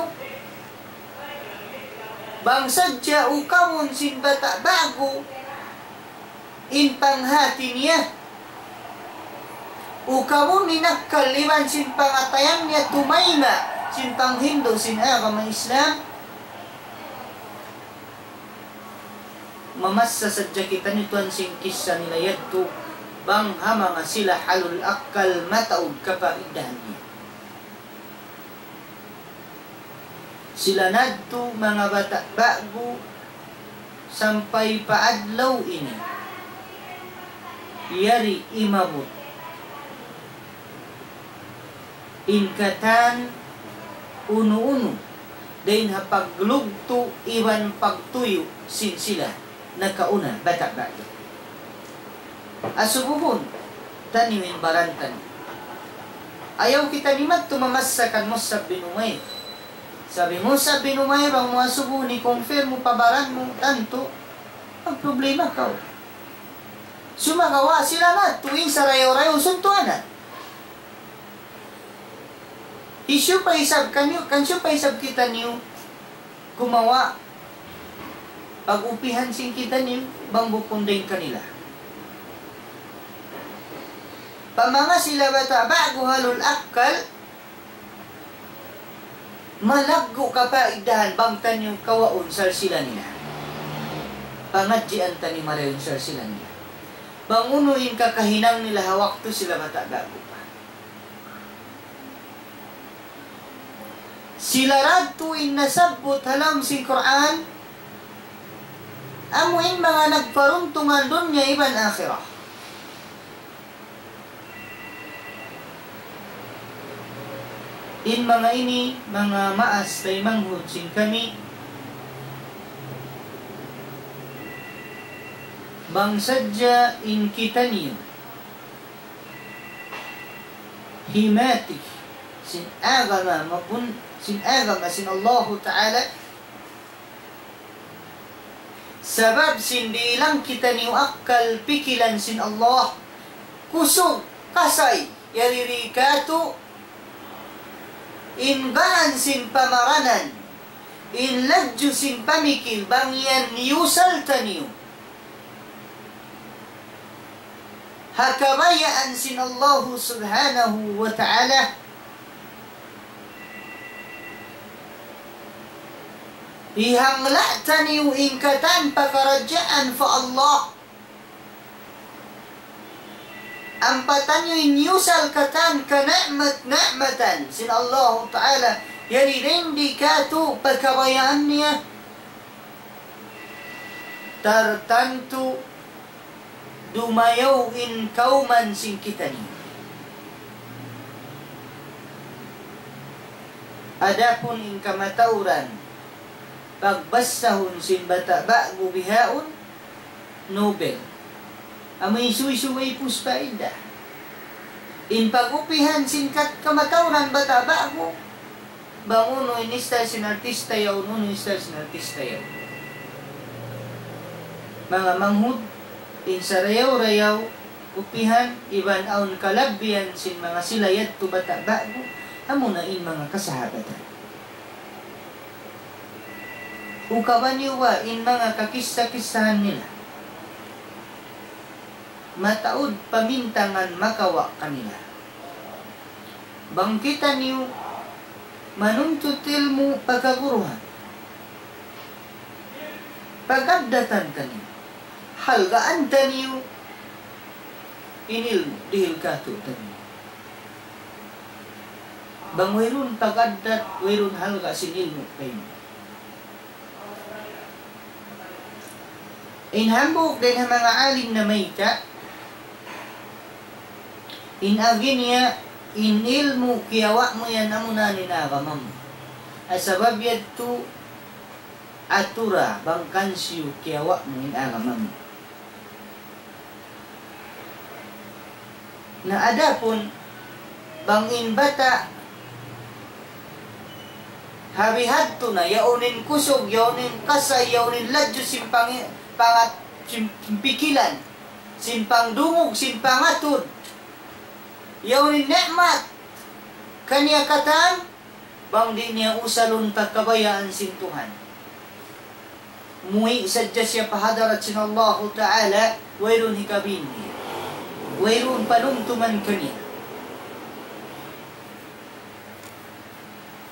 bang sadja ukawun sin bata' ba'gu in panghati niya, ukawun in akkal iban sin pangatayan niya tumayma' sin panghindu' sin agama Islam, mamassa sadja kitaniyu tuwan sin kissa nila yadtu, bang ha manga sila halul akkal mataud kapaidahan niya. Sila na yadtu manga bata' ba'gu sampay pa adlaw ini. Yari imabut in katan unu-unu dayn ha paglugtu' iban pagtuyu' sin sila nakauna bata' ba'gu. Asubuhun taniyu in baran taniyu. Ayaw kitaniyu madtu mamassa kan Mus'ab bin Umair. Sabi Mus'ab bin Umair, bang mu asubuhun i-confirm mu pa baran mu, tantu magproblema kaw. Sumagawa' sila madtu in sarayaw-rayaw suntuanan. Hisiyu pa isab kaniyu, kan hisiyu pa isab kitaniyu kumawa' pag-upihan sin kitaniyu bang bukun dayn kanila. Pa manga sila bata' ba'gu halul akkal, malaggu' kapaidahan bang taniyu kawaun salsila nila. Pangadjian taniyu marayaw in salsila nila. Bang unu in kakahinang nila ha waktu sila bata' ba'gu pa. Sila ra yadtu in nasabbut ha lawm sin Qur'an, amu in manga nagparuntungan dunya iban akhirat. In manga ini, manga maas taymanghud sin kami, bang sadja in kitaniyu himati sin agama mapun-, sin agama sin Allahu Ta'ala, sabab sin dihilan kitaniyu akkal pikilan sin Allah, kusug, kasay, yari di katu', in gaan sin pamaranan, in ladju sin pamikil, bang yan miyusal taniyu ha kabayaan sin Allahu Subhanahu wa Ta'ala, hihangla' taniyu in katan pakaradjaan pa Allah. Ampa taniyu in miyusal katan kani'mat-ni'matan sin Allahu Ta'ala, yari di katu' pa kabayaan niya, tartantu dumayaw in kawman sin kitaniyu. Adapun in kamatauran, pagbassahun sin bata' ba'gu bihaun, Nobel. Amu in suysuy way puspa inda. In pag-upihan sin kat-, kamatauran bata' ba'gu, bang unu in style sin artista yaun, unu in style sin artista yaun. Manga manghud, in sarayaw-rayaw, upihan, iban awn kalabbihan sin manga sila yadtu bata' ba'gu, amuna in manga kasahabatan. Ukaban niyu ba in manga kakissa-kissahan nila? Mataud pamintangan makawa' kanila. Bang kitaniyu manuntut ilmu' pa kaguruhan, pag-addatan taniyu, halgaan taniyu in ilmu' dihil katu' taniyu. Bang wayruun pag-addat, wayruun halga' sin ilmu' kaymu. In hambuuk dayn ha manga alim namayta', in agi niya, in ilmu' kiyawa' mu yan amuna in agama mu. Sabab yadtu atura bang kansiyu kiyawa' mu in agama mu. Na adapun bang in bata' ha bihadtu na, yaun in kusug, yaun in kasay, yaun in ladju sin pangi-, pangat-, sin pikilan, sin pangdungug, sin pangatud, yaun in ni'mat kaniya katan, bang di' niya usalun pa kabayaan sin Tuhan, muwi' sadja siya pa hadarat sin Allahu Ta'ala, wayruun hikabin niya, wayruun panumtuman kaniya.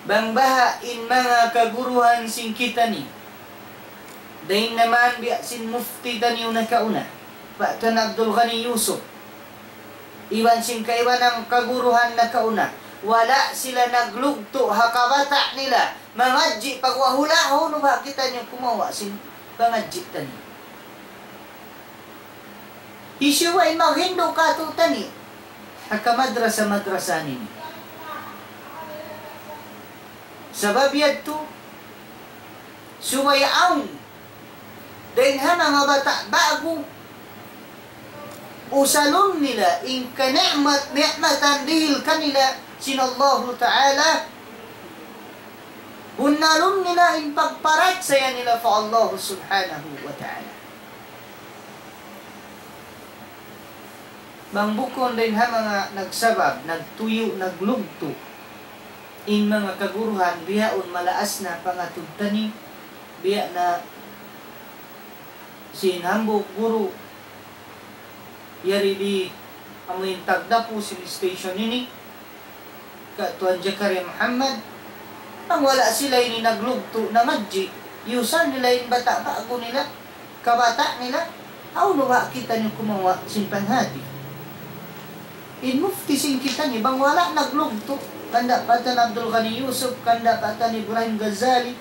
Bang baha' in manga kaguruhan sin kitaniyu, dayn naman biya' sin mufti taniyu nakauna, Pak Tun Abdul Ghani Yusuf, iban sin kaibanan kaguruhan nakauna, wala' sila naglugtu' ha kabata' nila mangadji' pagwahula'. Hawnu ba kitaniyu kumawa' sin pangadji' taniyu? Hisiyu ba in maghindu' katu'taniyu ha kamadrasa-madrasa nini? Sabab yadtu, subay awn dayn ha manga bata' ba'gu, usalun nila in kani'mat-ni'matan dihil kanila sin Allahu Ta'ala, bunnalun nila in pagparachaya nila pa Allah Subhanahu wa Ta'ala. Bang bukun dayn ha manga nagsabab, nagtuyu', naglugtu' in manga kaguruhan, bihaun malaas na pangatud taniyu, biya' na sin hambuuk guru, yari di amu in tagdapu sin station ini, Ka Tuan Jakaria Muhammad, bang wala' sila ini naglugtu', nangadji', iyusal nila in bata' ba'gu nila, kabata' nila, hawnu ba kitaniyu kumawa' sin panghati? In mufti sin kitaniyu, bang wala' naglugtu', kanda' pa Tuan Abdul Ghani Yusuf, kanda' pa Tuan Ibrahim Ghazali,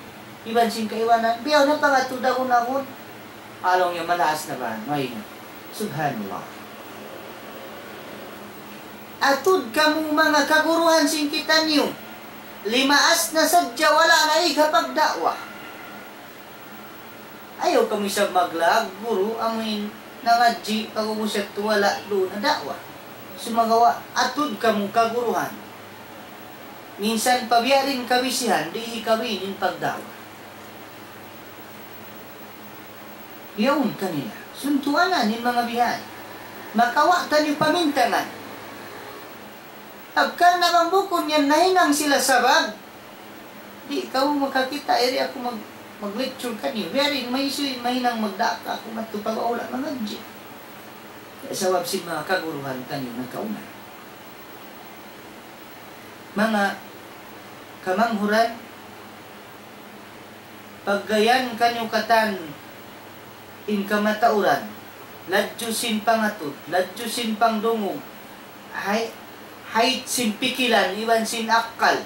iban sin kaibanan, biya' na pangatud agun-agun, laung niya malaas na ba? Way na. Subhanallah. Atud kamu manga kaguruhan sin kitaniyu. Limaas na sadja wala' na hikapagda'wa. Ayaw kamu isab maglaag guru, amuin nangadji', pag'ubus yadtu wala' duun na da'wa. Sumagawa', atud kamu kaguruhan. Minsan pa biya' diin kabisihan, di' hikawin in pagda'wa. Yaun kanila. Suntuanan in manga bihan. Makawa' taniyu pamintangan. Hangkan na bang bukun yan nahinang sila sabab, di' kaw makakita', iri aku mag-, mag-lecture kaniyu. Biya' diin maysuy mahinang magdaak aku madtu pa Baula' mangadji'. Sabab sin manga kaguruhan taniyu nakauna. Manga kamanghuran, paggayan kaniyu katan in kamatauran, ladju sin pangatud, ladju sin pangdungug, hay-, hayt sin pikilan, iban sin akkal,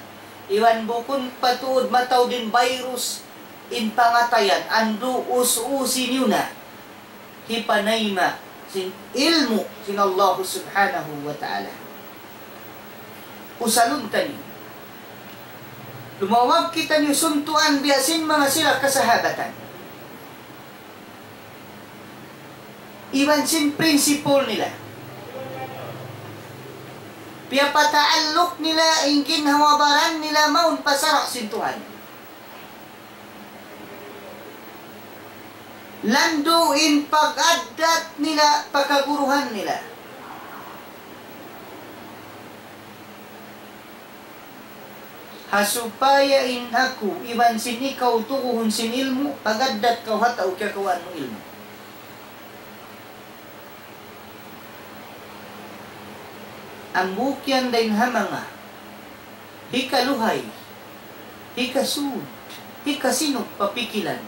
iban bukun pa tuud mataud in virus, in pangatayan, andu' us-usi niyu na hipanayma' sin ilmu' sin Allah Subhanahu wa Ta'ala. Usalun taniyu. Lumawag kitaniyu suntuan biya' sin manga sila kasahabatan. Iban sin prinsipul nila. Piyapataalluk nila in ginhawa-baran nila mawn pa sara' sin Tuhan. Landu' in pag-addat nila pa kaguruhan nila. Ha supaya in aku iban sin ikaw tuguhun sin ilmu', pag-addat kaw ha tau kiyakawaan mu ilmu'. Hambuuk yan dayn ha manga hikaluhay, hikasud, hikasinug pa pikilan,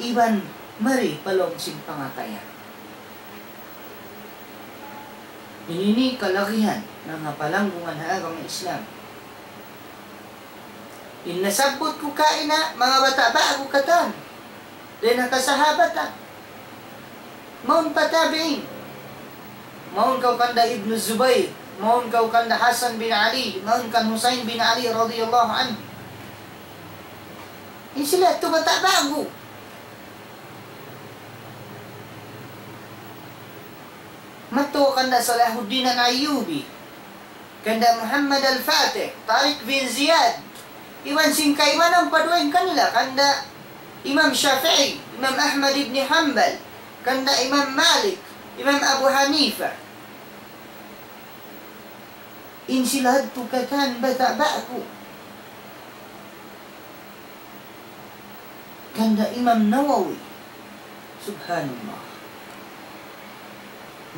iban mari pa lawm sin pangatayan. Ini ini kalagihan manga palanggungan ha agama Islam. In nasabbut ku kaina, manga bata' ba'gu katan. Dayn ha kasahabatan. Mawn pa tabi'in. Mawn kaw kanda Ibnu Zubayr. Mawn kaw kanda Hasan bin Ali. Mawn kan Husayn bin Ali radiyallahu anhu. In sila yadtu bata' ba'gu. Madtu kanda Salahuddin Al-Ayyubi. Kanda Muhammad Al-Fatih, Tariq bin Ziyad, iban sin kaibanan pa dugaing kanila, kanda Imam Shafi'i, Imam Ahmad ibn Hanbal, kanda Imam Malik, Imam Abu Hanifa. In sila yadtu katan bata' ba'gu. Kanda Imam Nawawi. Subhanallah.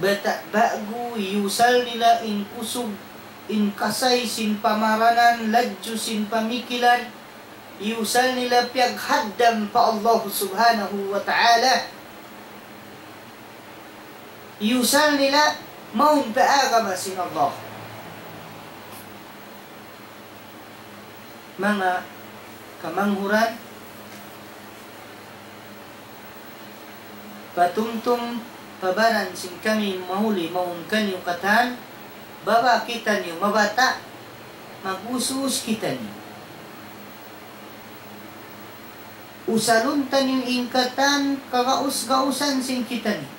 Bata' ba'gu, iyusal nila in kusug, in kasay sin pamaranan, ladju sin pamikilan, iyusal nila piyaghaddam pa Allah Subhanahu wa Ta'ala. Iyusal nila mawn pa agama sin Allah. Manga kamanghuran, patumtum pa baran sin kami mahuli mawn kaniyu katan, baba' kitaniyu mabata', mag-us-us kitaniyu. Usalun taniyu in katan kagaus-gausan sin kitaniyu.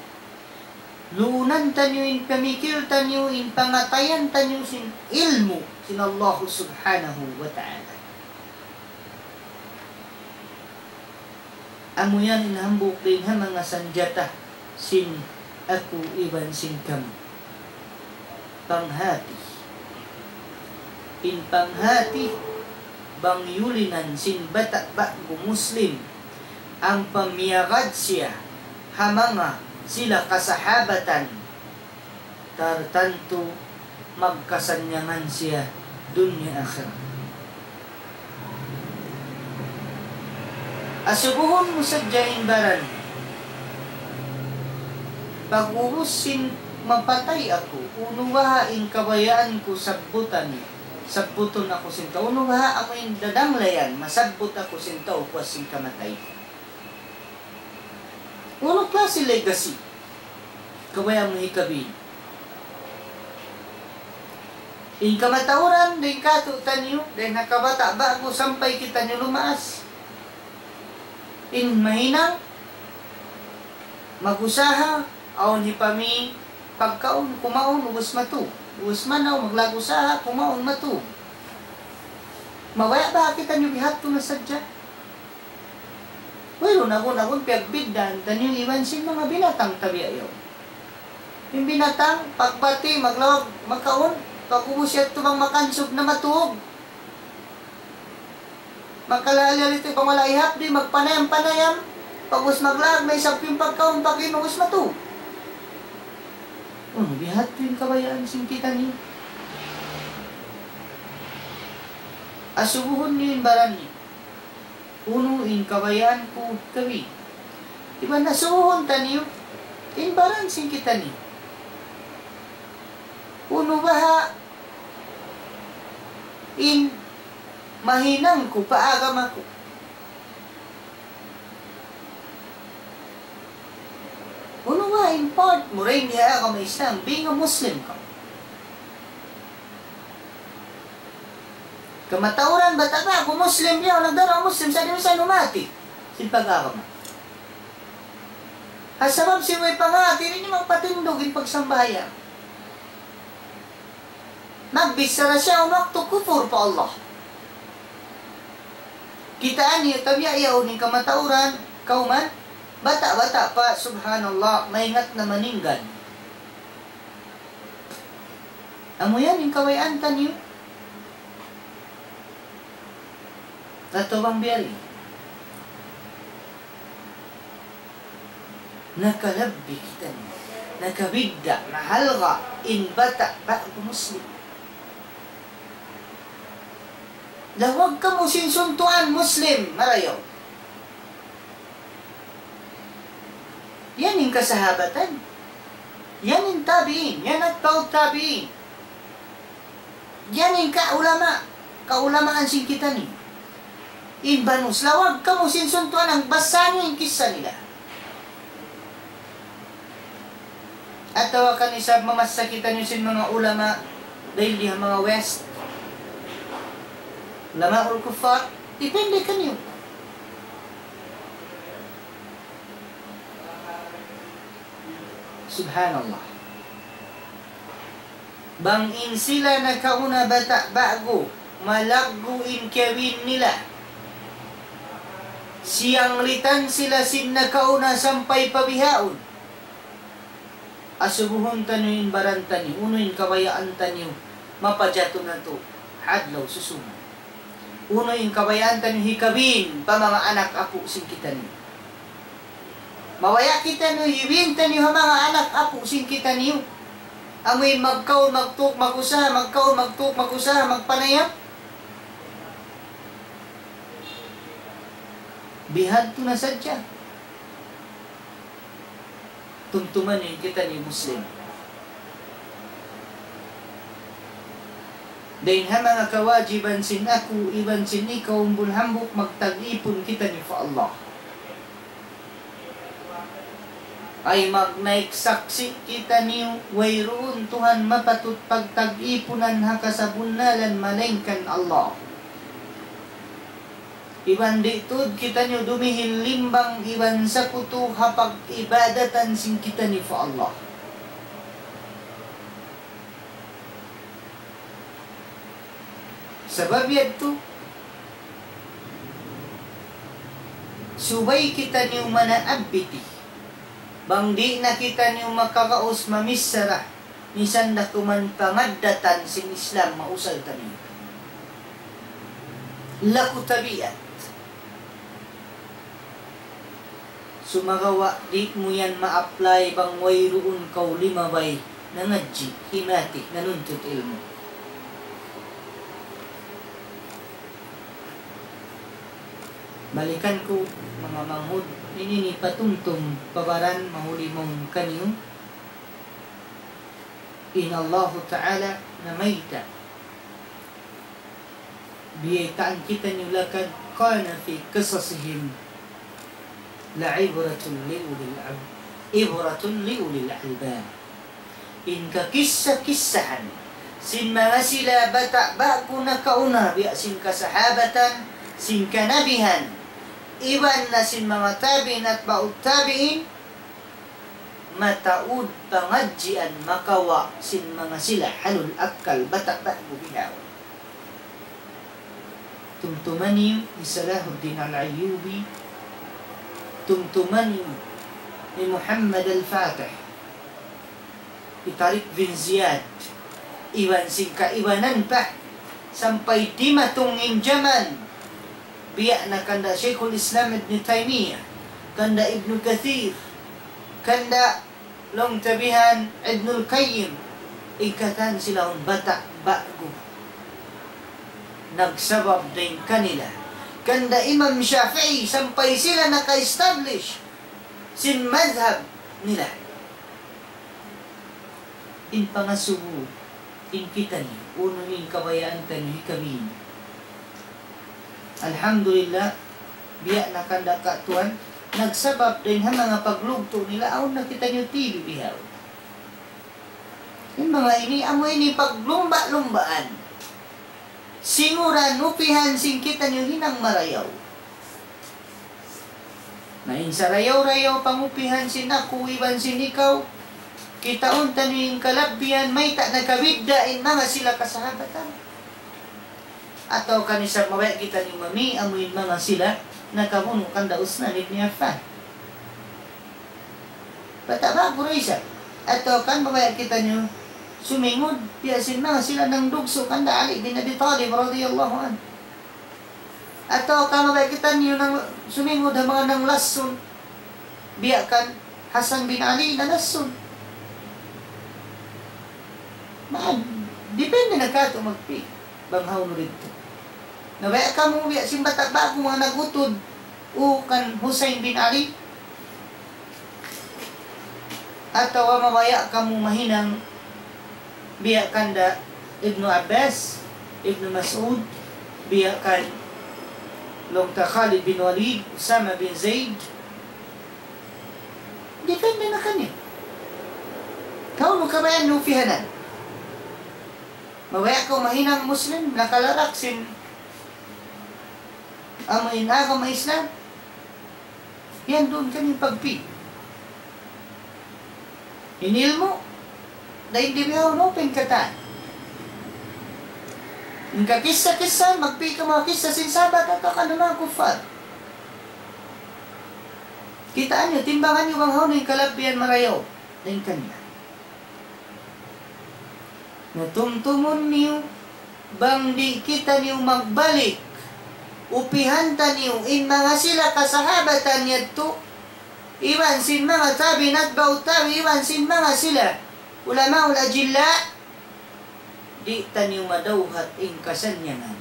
Luunan taniyu in pamikil taniyu, in pangatayan taniyu sin ilmu' sin Allah Subhanahu wa Ta'ala. Amu yan in hambuuk dayn ha manga sanjata sin aku iban sin kamu. Panghati. In panghati, bang yulinan sin bata' ba'gu Muslim, ampa miyagad siya ha manga sila kasahabatan, tartantu magkasannyangan siya dunya akhirat. Asubuhun mu sadja in baran. Pag'ubus sin mapatay aku, unu baha' in kabayaan ku sabbutan, sabbutun aku sin tau, unu baha' amu in dadanglayan, masabbut aku sin tau puas sin kamatay. Unu klasi legacy kabayaan mu hikabin? In kamatauran, dayn kātu'niyu, dayn ha kabata' ba'gu sampay kitaniyu lumaas. In mahinang, mag-usaha, awn hipamī pagkaun, kumaun, ubus matūg. Ubus manaw, maglag usaha, kumaun, matūg. Mabaya' baha' kitaniyu bihādtu na sadja? Wayruun agun-agun piyagbiddaan taniyu iban sin manga binatang tabiya' yaun. In binatang, pagbati', maglawag, makaun, pag-ubus yadtu bang makansub na, matūg. Magkalahal-lahal itu bang wala' ihapdi', magpanayam-panayam, pag-ubus maglag na isab in pagkaun, pag-inum, ubus matūg. Unu bihādtu in kabayaan sin kitaniyu? Asubuhun niyu in baran niyu. Unu in kabayaan ku kami. Iban asubuhun taniyu in baran sin kitaniyu. Unu baha' in mahinang ku pa agama ku? Unu baha' in part mu dayn ha agama Islam, being a Muslim kaw? Kamatauran, bata' ba'gu Muslim, biya' nagdara Muslim, sa' di' minsan humati sin pag-agama. Ha sabab sin way panghati, di' niya magpatindug in pagsambahayang. Magbichara siya awn waktu kupur pa Allah. Kitaa niyu tabiya' yaun in kamatauran, kawman, bata'-bata' pa, subhanallah, maingat na maninggal. Amu yan in kabayaan taniyu. Atawa bang biya' diin? Nakalabbi kitaniyu. Nakabidda', nahalga' in bata' ba'gu Muslim. Lawag kamu sin suntuan Muslim marayaw. Yan in kasahabatan. Yan in tabi'in. Yan atba'u tabi'in. Yan in kaulama, kaulamaan sin kitaniyu. In banus, lawag kamu sin suntuan, bang basahan niyu in kissa nila. Atawa kan isab mamassa kitaniyu sin manga ulama, dayn di ha manga West. Ulamaul kuffar, depende kaniyu. Subhanallah. Bang in sila nakauna bata' ba'gu, malaggu' in kiyabin nila. Siyanglitan sila sin nakauna sampay pa bihaun. Asubuhun taniyu in baran taniyu, unu in kabayaan taniyu, mapajatu natu' ha adlaw susungun. Unu in kabayaan taniyu hikabin pa manga anak apu' sin kitaniyu. Mabaya' kitaniyu hibin taniyu ha manga anak apu' sin kitaniyu. Amuin magkaun, magtūg, mag-usaha, magkaun, magtūg, mag-usaha, magpanayam. Bihadtu na sadja. Tumtuma niyu in kitaniyu Muslim. Dayn ha manga kawajiban sin aku iban sin ikaw umbul hambuuk, magtag-ipun kitaniyu pa Allah. Ay magnaik saksi' kitaniyu, wayruun Tuhan mapatut pagtag-ipunan ha kasabunnalan malaingkan Allah. Iban di' tuud kitaniyu dumihil limbang iban sakutu ha pag-ibadatan sin kitaniyu pa Allah. Sabab yadtu, subay kitaniyu manaabiti. Bang di' na kitaniyu makagaus mamichara, misan da kuman pangaddatan sin Islam mausal taniyu. Laku tabiat. Sumagawa' di' mu yan ma-apply bang wayruun kaw limabay nangadji', himati, nanuntut ilmu'. Balikan ku, manga manghud, ini ini patumtum pa baran mahuli mawn kaniyu. In Allahu Ta'ala namayta'. Biyaytaan kitaniyu, لقد كان في قصصهم لعبرة لأولي الألب-، عبرة لأولي الألباب. In kakissa-kissahan sin manga sila bata' ba'gu nakauna biya' sin kasahabatan, sin kanabihan, iban na sin manga tabi'in, atba'ut tabi'in, mataud pangadjian makawa' sin manga sila halul akkal bata' ba'gu bihaun. Tumtuma niyu hi Salahuddin Al-Ayyubi, tumtuma niyu hi Muhammad Al-Fatih, hi Tariq bin Ziyad, iban sin kaibanan pa, sampay dimatung in jaman, biya' na kanda Shaykhul Islam Ibn Taymiyyah, kanda Ibn Kathir, kanda laung ta bihan Ibnul Qayyim, in katan sila yaun bata' ba'gu. Nagsabab dayn kanila. Kanda Imam Shafi'i sampay sila naka-establish sin madhab nila. In pangasubu, in kitaniyu, unu in kabayaan taniyu hikabin. Alhamdulillah, biya' na kanda katuan, nagsabab dayn ha manga paglugtu' nila, awn na kitaniyu T V bihaun. In manga ini, amu ini paglumba'-lumbaan. Singuran upihan sin kitaniyu hinang marayaw. Na in sarayaw-rayaw pangupihan sin aku iban sin ikaw, kitaun taniyu in kalabbihan, mayta' nakabidda' in manga sila kasahabatan. Atawa kan isab mabaya' kitaniyu mami, amu in manga sila nakabunu' kanda Usman ibn Affan. Bata' ba'gu da isab. Atawa kan mabaya' kitaniyu sumingud, biya' sin manga sila nangdugsu' kanda Ali bin Abi Talib radiyallahu anhu. Atawa kan mabaya' kitaniyu nang sumingud ha manga nanglassun, biya' kan Hasan bin Ali nanglassun. Na, depende na katu' magpi'. Bang hawnu didtu. Na baya' kamu biya' sin bata' ba'gu manga nag-utud, u kan Husayn bin Ali. Atawa mabaya' kamu mahinang biya' kanda Ibnu Abbas, Ibnu Mas'ud, biya' kan laung ta Khalid bin Walid, Usama bin Zaid. Depende na kaniya. Hawnu kabayaan niyu upihanan. Mabaya' kaw mahinang Muslim, nakalarak sin amu in agama Islam. Yan duun kaniya pagpi'. In ilmu', dayn di bihaun open katan. In kakissa-kissa, magpi' kaw manga kissa sin sahabat atawa kan manga kuffar. Kitaa niyu, timbangan niyu bang hawnu in kalabbihan marayaw dayn kanila. Na tumtumun niyu, bang di' kitaniyu magbalik, upihan taniyu in manga sila kasahabatan yadtu, iban sin manga tabi'in, atba'ut tabi'in, iban sin manga sila ulamaul ajilla, di' taniyu madawhat in kasannyangan.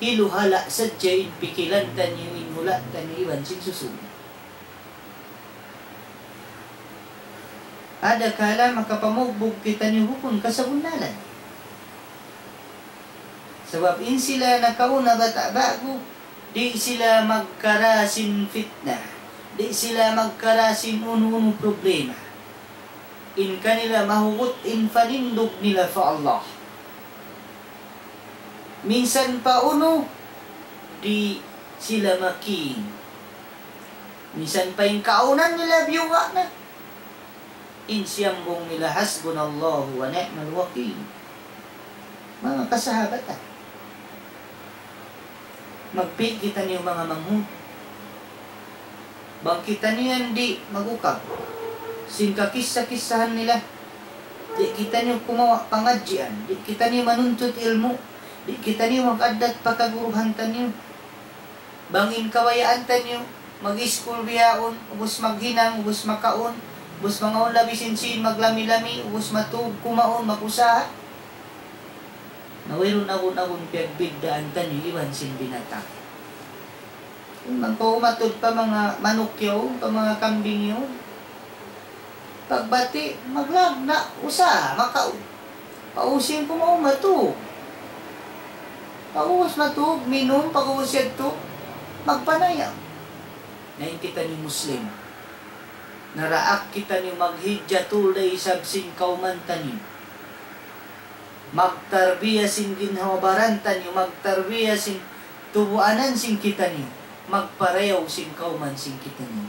Hiluhala' sadja in pikilan taniyu, in hula' taniyu, iban sin susun. Adakala makapamugbug kitaniyu bukun kasabunnalan. Sabab in sila nakauna bata' ba'gu, di' sila magkara sin fitna, di' sila magkara sin unu-unu problema. In kanila mahugut in panindug nila pa Allah. Minsan pa unu, di' sila makin. Minsan pa in kaawnan nila biyuga' na. In siyambung nila, حسبنا الله ونعم الوكيل. Manga kasahabatan. Magpi' kitaniyu manga manghud. Bang kitaniyu yan di' mag-ukab sin kakissa-kissahan nila. Di' kitaniyu kumawa' pangadjian. Di' kitaniyu manuntut ilmu'. Di' kitaniyu mag-addat pa kaguruhan taniyu. Bang in kabayaan taniyu, mag-iskul bihaun, ubus maghinang, ubus makaun, ubus mangaun labi sin sīn, maglami-lami, ubus matug, kumaun, mag-usaha. Na wayruun agun-agun piyagbiddaan taniyu iban sin binatang. Bang kaw umatud pa manga manuk yaun, pa manga kambing yaun, pagbati', maglagna', usaha, makaun. Pag-ubus sin kumaun, matug. Pag-ubus matug, minum, pag-ubus yadtu, magpanayam. Na in kitaniyu Muslim. Naraak kitaniyu maghijja tuud da isab sin kawman taniyu. Magtarbiya sin ginhawa-baran taniyu, magtarbiya sin tubuanan sin kitaniyu, magparayaw sin kawman sin kitaniyu.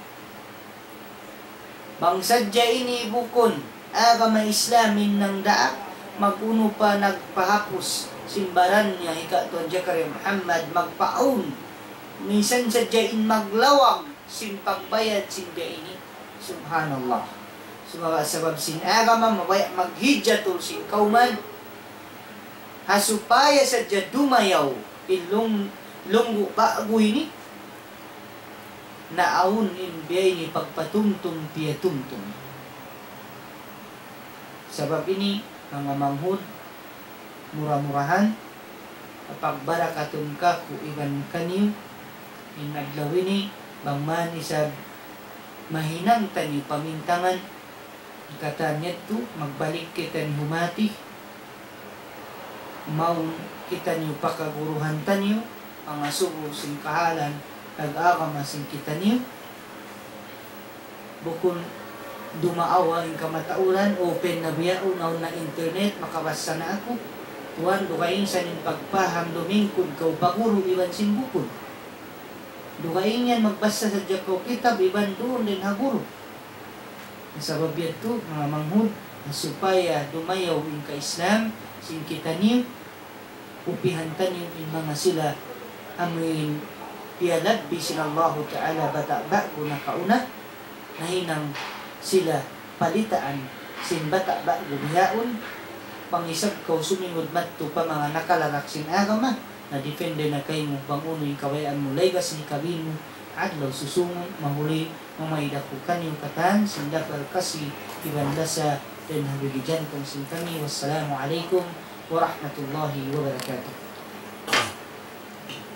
Bang sadja ini bukun agama Islam in nangdaak, mag-unu pa nagpahapus sin baran niya hi Ka Tuan Zakaria Muhammad, magpaawn. Minsan sadja in maglawag sin pagbayad sin biya' ini. Subhanallah. Sumagawa' sabab sin agama, mabaya' maghijra tuud sin kawman. Ha supaya sadja dumayaw in lung-, lunggu' ba'gu ini. Naawn in biya' ini pagpatumtum piyatumtum. Sabab ini, manga manghud, mura-murahan, pagbarakatun kaku' iban kaniyu, in adlaw ini, bang man isab mahinang taniyu pamintangan, katan yadtu, magbalik kitaniyu humati, mawn kitaniyu pa kaguruhan taniyu, mangasubu sin kahalan, nag-agama sin kitaniyu. Bukun dumaawa in kamatauran, open na bihaun, awn na internet, makabassa na aku. Tuwan, dugaing sa in pagpaham, lumingkud kaw pa guru iban sin bukun. Dugaing yan magbassa sadja kaw kitab, iban duun dayn ha guru. Sabab yadtu, manga manghud, supaya dumayaw in ka-Islam sin kitaniyu, upihan taniyu in manga sila amuin piyalabbi sin Allahu Ta'ala bata' ba'gu nakauna, nahinang sila palitaan sin bata' ba'gu bihaun, bang isab kaw sumingud madtu pa manga nakalarak sin agama, na depende na kaymu bang unu in kabayaan mu, laygas in hikabin mu, adlaw susungun, mahuli, mamaid aku kaniyu katan, sin lapal kasi, iban lasa, dayn ha bigi jantung sin kami. Wassalamu alaykum warahmatullahi wabarakatuh.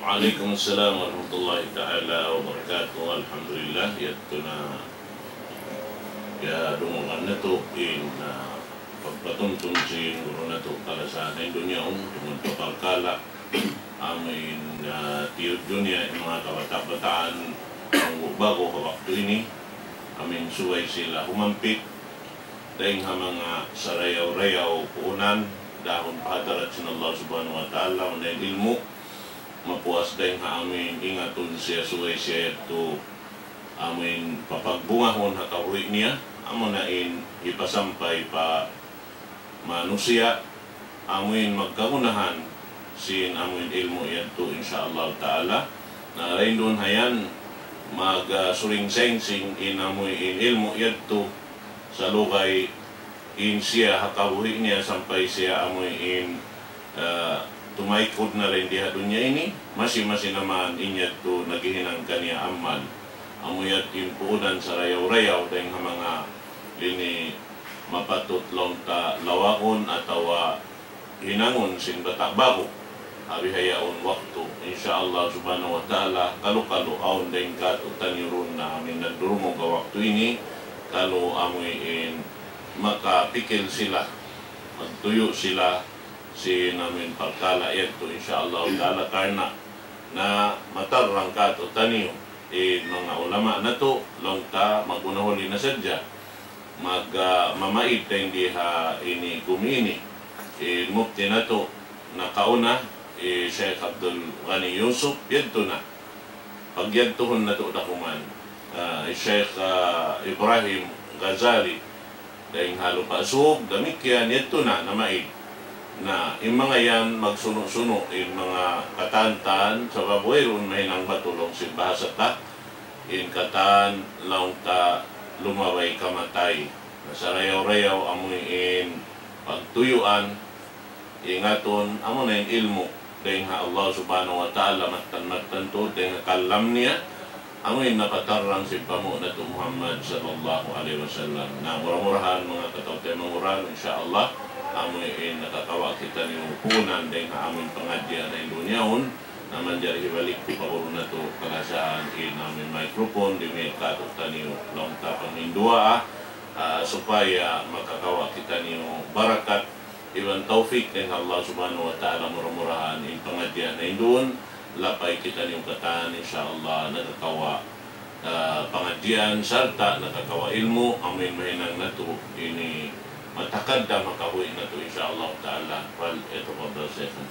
Wa alaykum assalam warahmatullahi ta'ala wabarakatuh. Alhamdulillah, yadtu na ya dungugan natu' in, ah, pagpatumtum sin guru natu' kalasahan ha dunya, um, tungud pa parkala' amuin, ah, tiyudju niya in manga kabata'-bataan, manggu' ba'gu ha waktu ini, amuin subay sila humampit dayn ha manga sarayaw-rayaw puunan, dahun pa hadarat sin Allah Subhanahu wa Ta'ala, amuin ilmu', mapuas dayn ha amuin ingatun siya, subay siya yadtu amuin papagbungahun ha kabuhi' niya, amuna in hipasampay pa manusiya', amuin magkagunahan sin amuin ilmu' yadtu, insya Allah Ta'ala. Na dayn duun ha yan, mag, ah, suring-sangsing in amuin ilmu' yadtu, salugay in siya ha kabuhi' niya sampay siya amuin, ah, tumaykud na dayn di ha dunya ini, masi-masi na man in yadtu naghihinang kaniya amal. Amu yadtu in puunan sarayaw-rayaw dayn ha manga ini mapatut laung ta lawagun atawa hinangun sin bata' ba'gu ha bihaun waktu. Insya Allah Subhanahu wa Ta'ala, kalu-kalu awn dayn kātu'niyu duun na amuin nagdurungug ha waktu ini, kalu amuin makapikil sila, magtuyu' sila sin amuin parkala' yadtu, insya Allah Ta'ala, karna' na matarrang kātu'niyu in manga ulama natu', laung ta magunahuli na sadja. Mag, ah, mamaid dayn di ha ini gumi ini, in mufti natu' nakauna, in Sheikh Abdul Ghani Yusuf, yadtu na. Pagyadtuhun natu' da kuman, ah, in Sheikh, ah, Ibrahim Ghazali, dayn ha Lupa' Sug, damikkiyan yadtu na, namaid. Na, in manga yan magsunu'-sunu', in manga katan-katan, sabab wayruun mahinang batu laung sin bahasa ta, in katan laung ta lumabay kamatay. Na, sarayaw-rayaw amuin pagtuyuan, ingatun, amuna in ilmu' dayn ha Allah Subhanahu wa Ta'ala, mattan-mattan tuud dayn ha kalam niya, amuin napatarrang sin panghu' natu' Muhammad sallallahu alayhi wasallam. Na, mura-murahan manga kataw-taymanghuran, insya Allah, amuin nakakawa' kitaniyu puunan dayn ha amuin pangadji' ha dunya yaun, na manjari hibalik ku pa guru natu' kalasahan in amuin microphone, dihil kātu'niyu laung ta panghinduwaa, ah, supaya makakawa' kitaniyu barakat iban tawfik dayn ha Allah Subhanahu wa Ta'ala, mura-murahan in pangadji' ha dunya yaun, lapay kitaniyu katan, insya Allah, nakakawa', ah, pangadjian sarta' nakakawa' ilmu', amuin mahinang natu' ini تقدم كهوئنا إن شاء الله تعالى. فليتفضل شيخنا.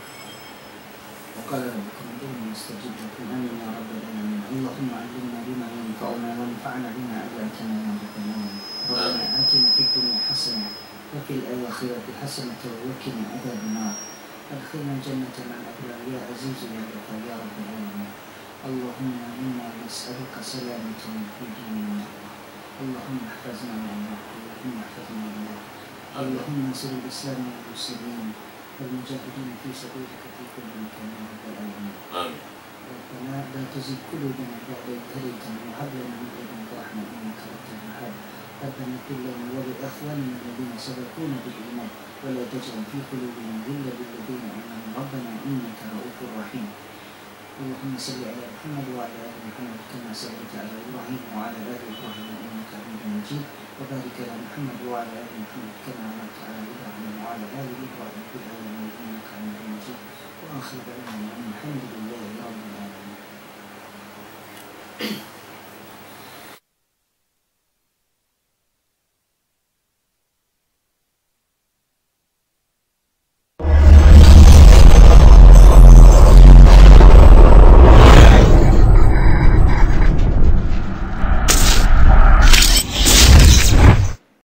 وقال ربكم ادعوني أستجب لكم. آمين يا رب العالمين. اللهم علمنا بما ينفعنا وانفعنا بما علمتنا يا رب العالمين. ربنا آتنا في الدنيا حسنة وفي الآخرة حسنة وقنا عذاب النار. أدخلنا الجنة مع الأبرار يا عزيز يا غفار يا رب العالمين. اللهم إنا نسألك سلامة في ديننا. اللهم احفظنا يا الله. اللهم احفظنا يا الله. اللهم انصر الإسلام والمسلمين والمجاهدين في سبيلك في كل مكان يا رب العالمين. آمين. ربنا لا تزغ قلوبنا بعد إذ هديتنا وهب لنا من لدنك رحمة إنك أنت الوهاب. ربنا اغفر لنا ولإخواننا الذين سبقونا بالإيمان ولا تجعل في قلوبنا غلا للذين آمنوا ربنا إنك رءوف رحيم. اللهم صل على محمد وعلى آل محمد كما صليت على إبراهيم وعلى آل إبراهيم إنك حميد مجيد. وبارك على محمد وعلى آل محمد كما باركت على إبراهيم وعلى آل إبراهيم في العالمين إنك حميد مجيد. وآخر دعوانا أن الحمد لله رب العالمين.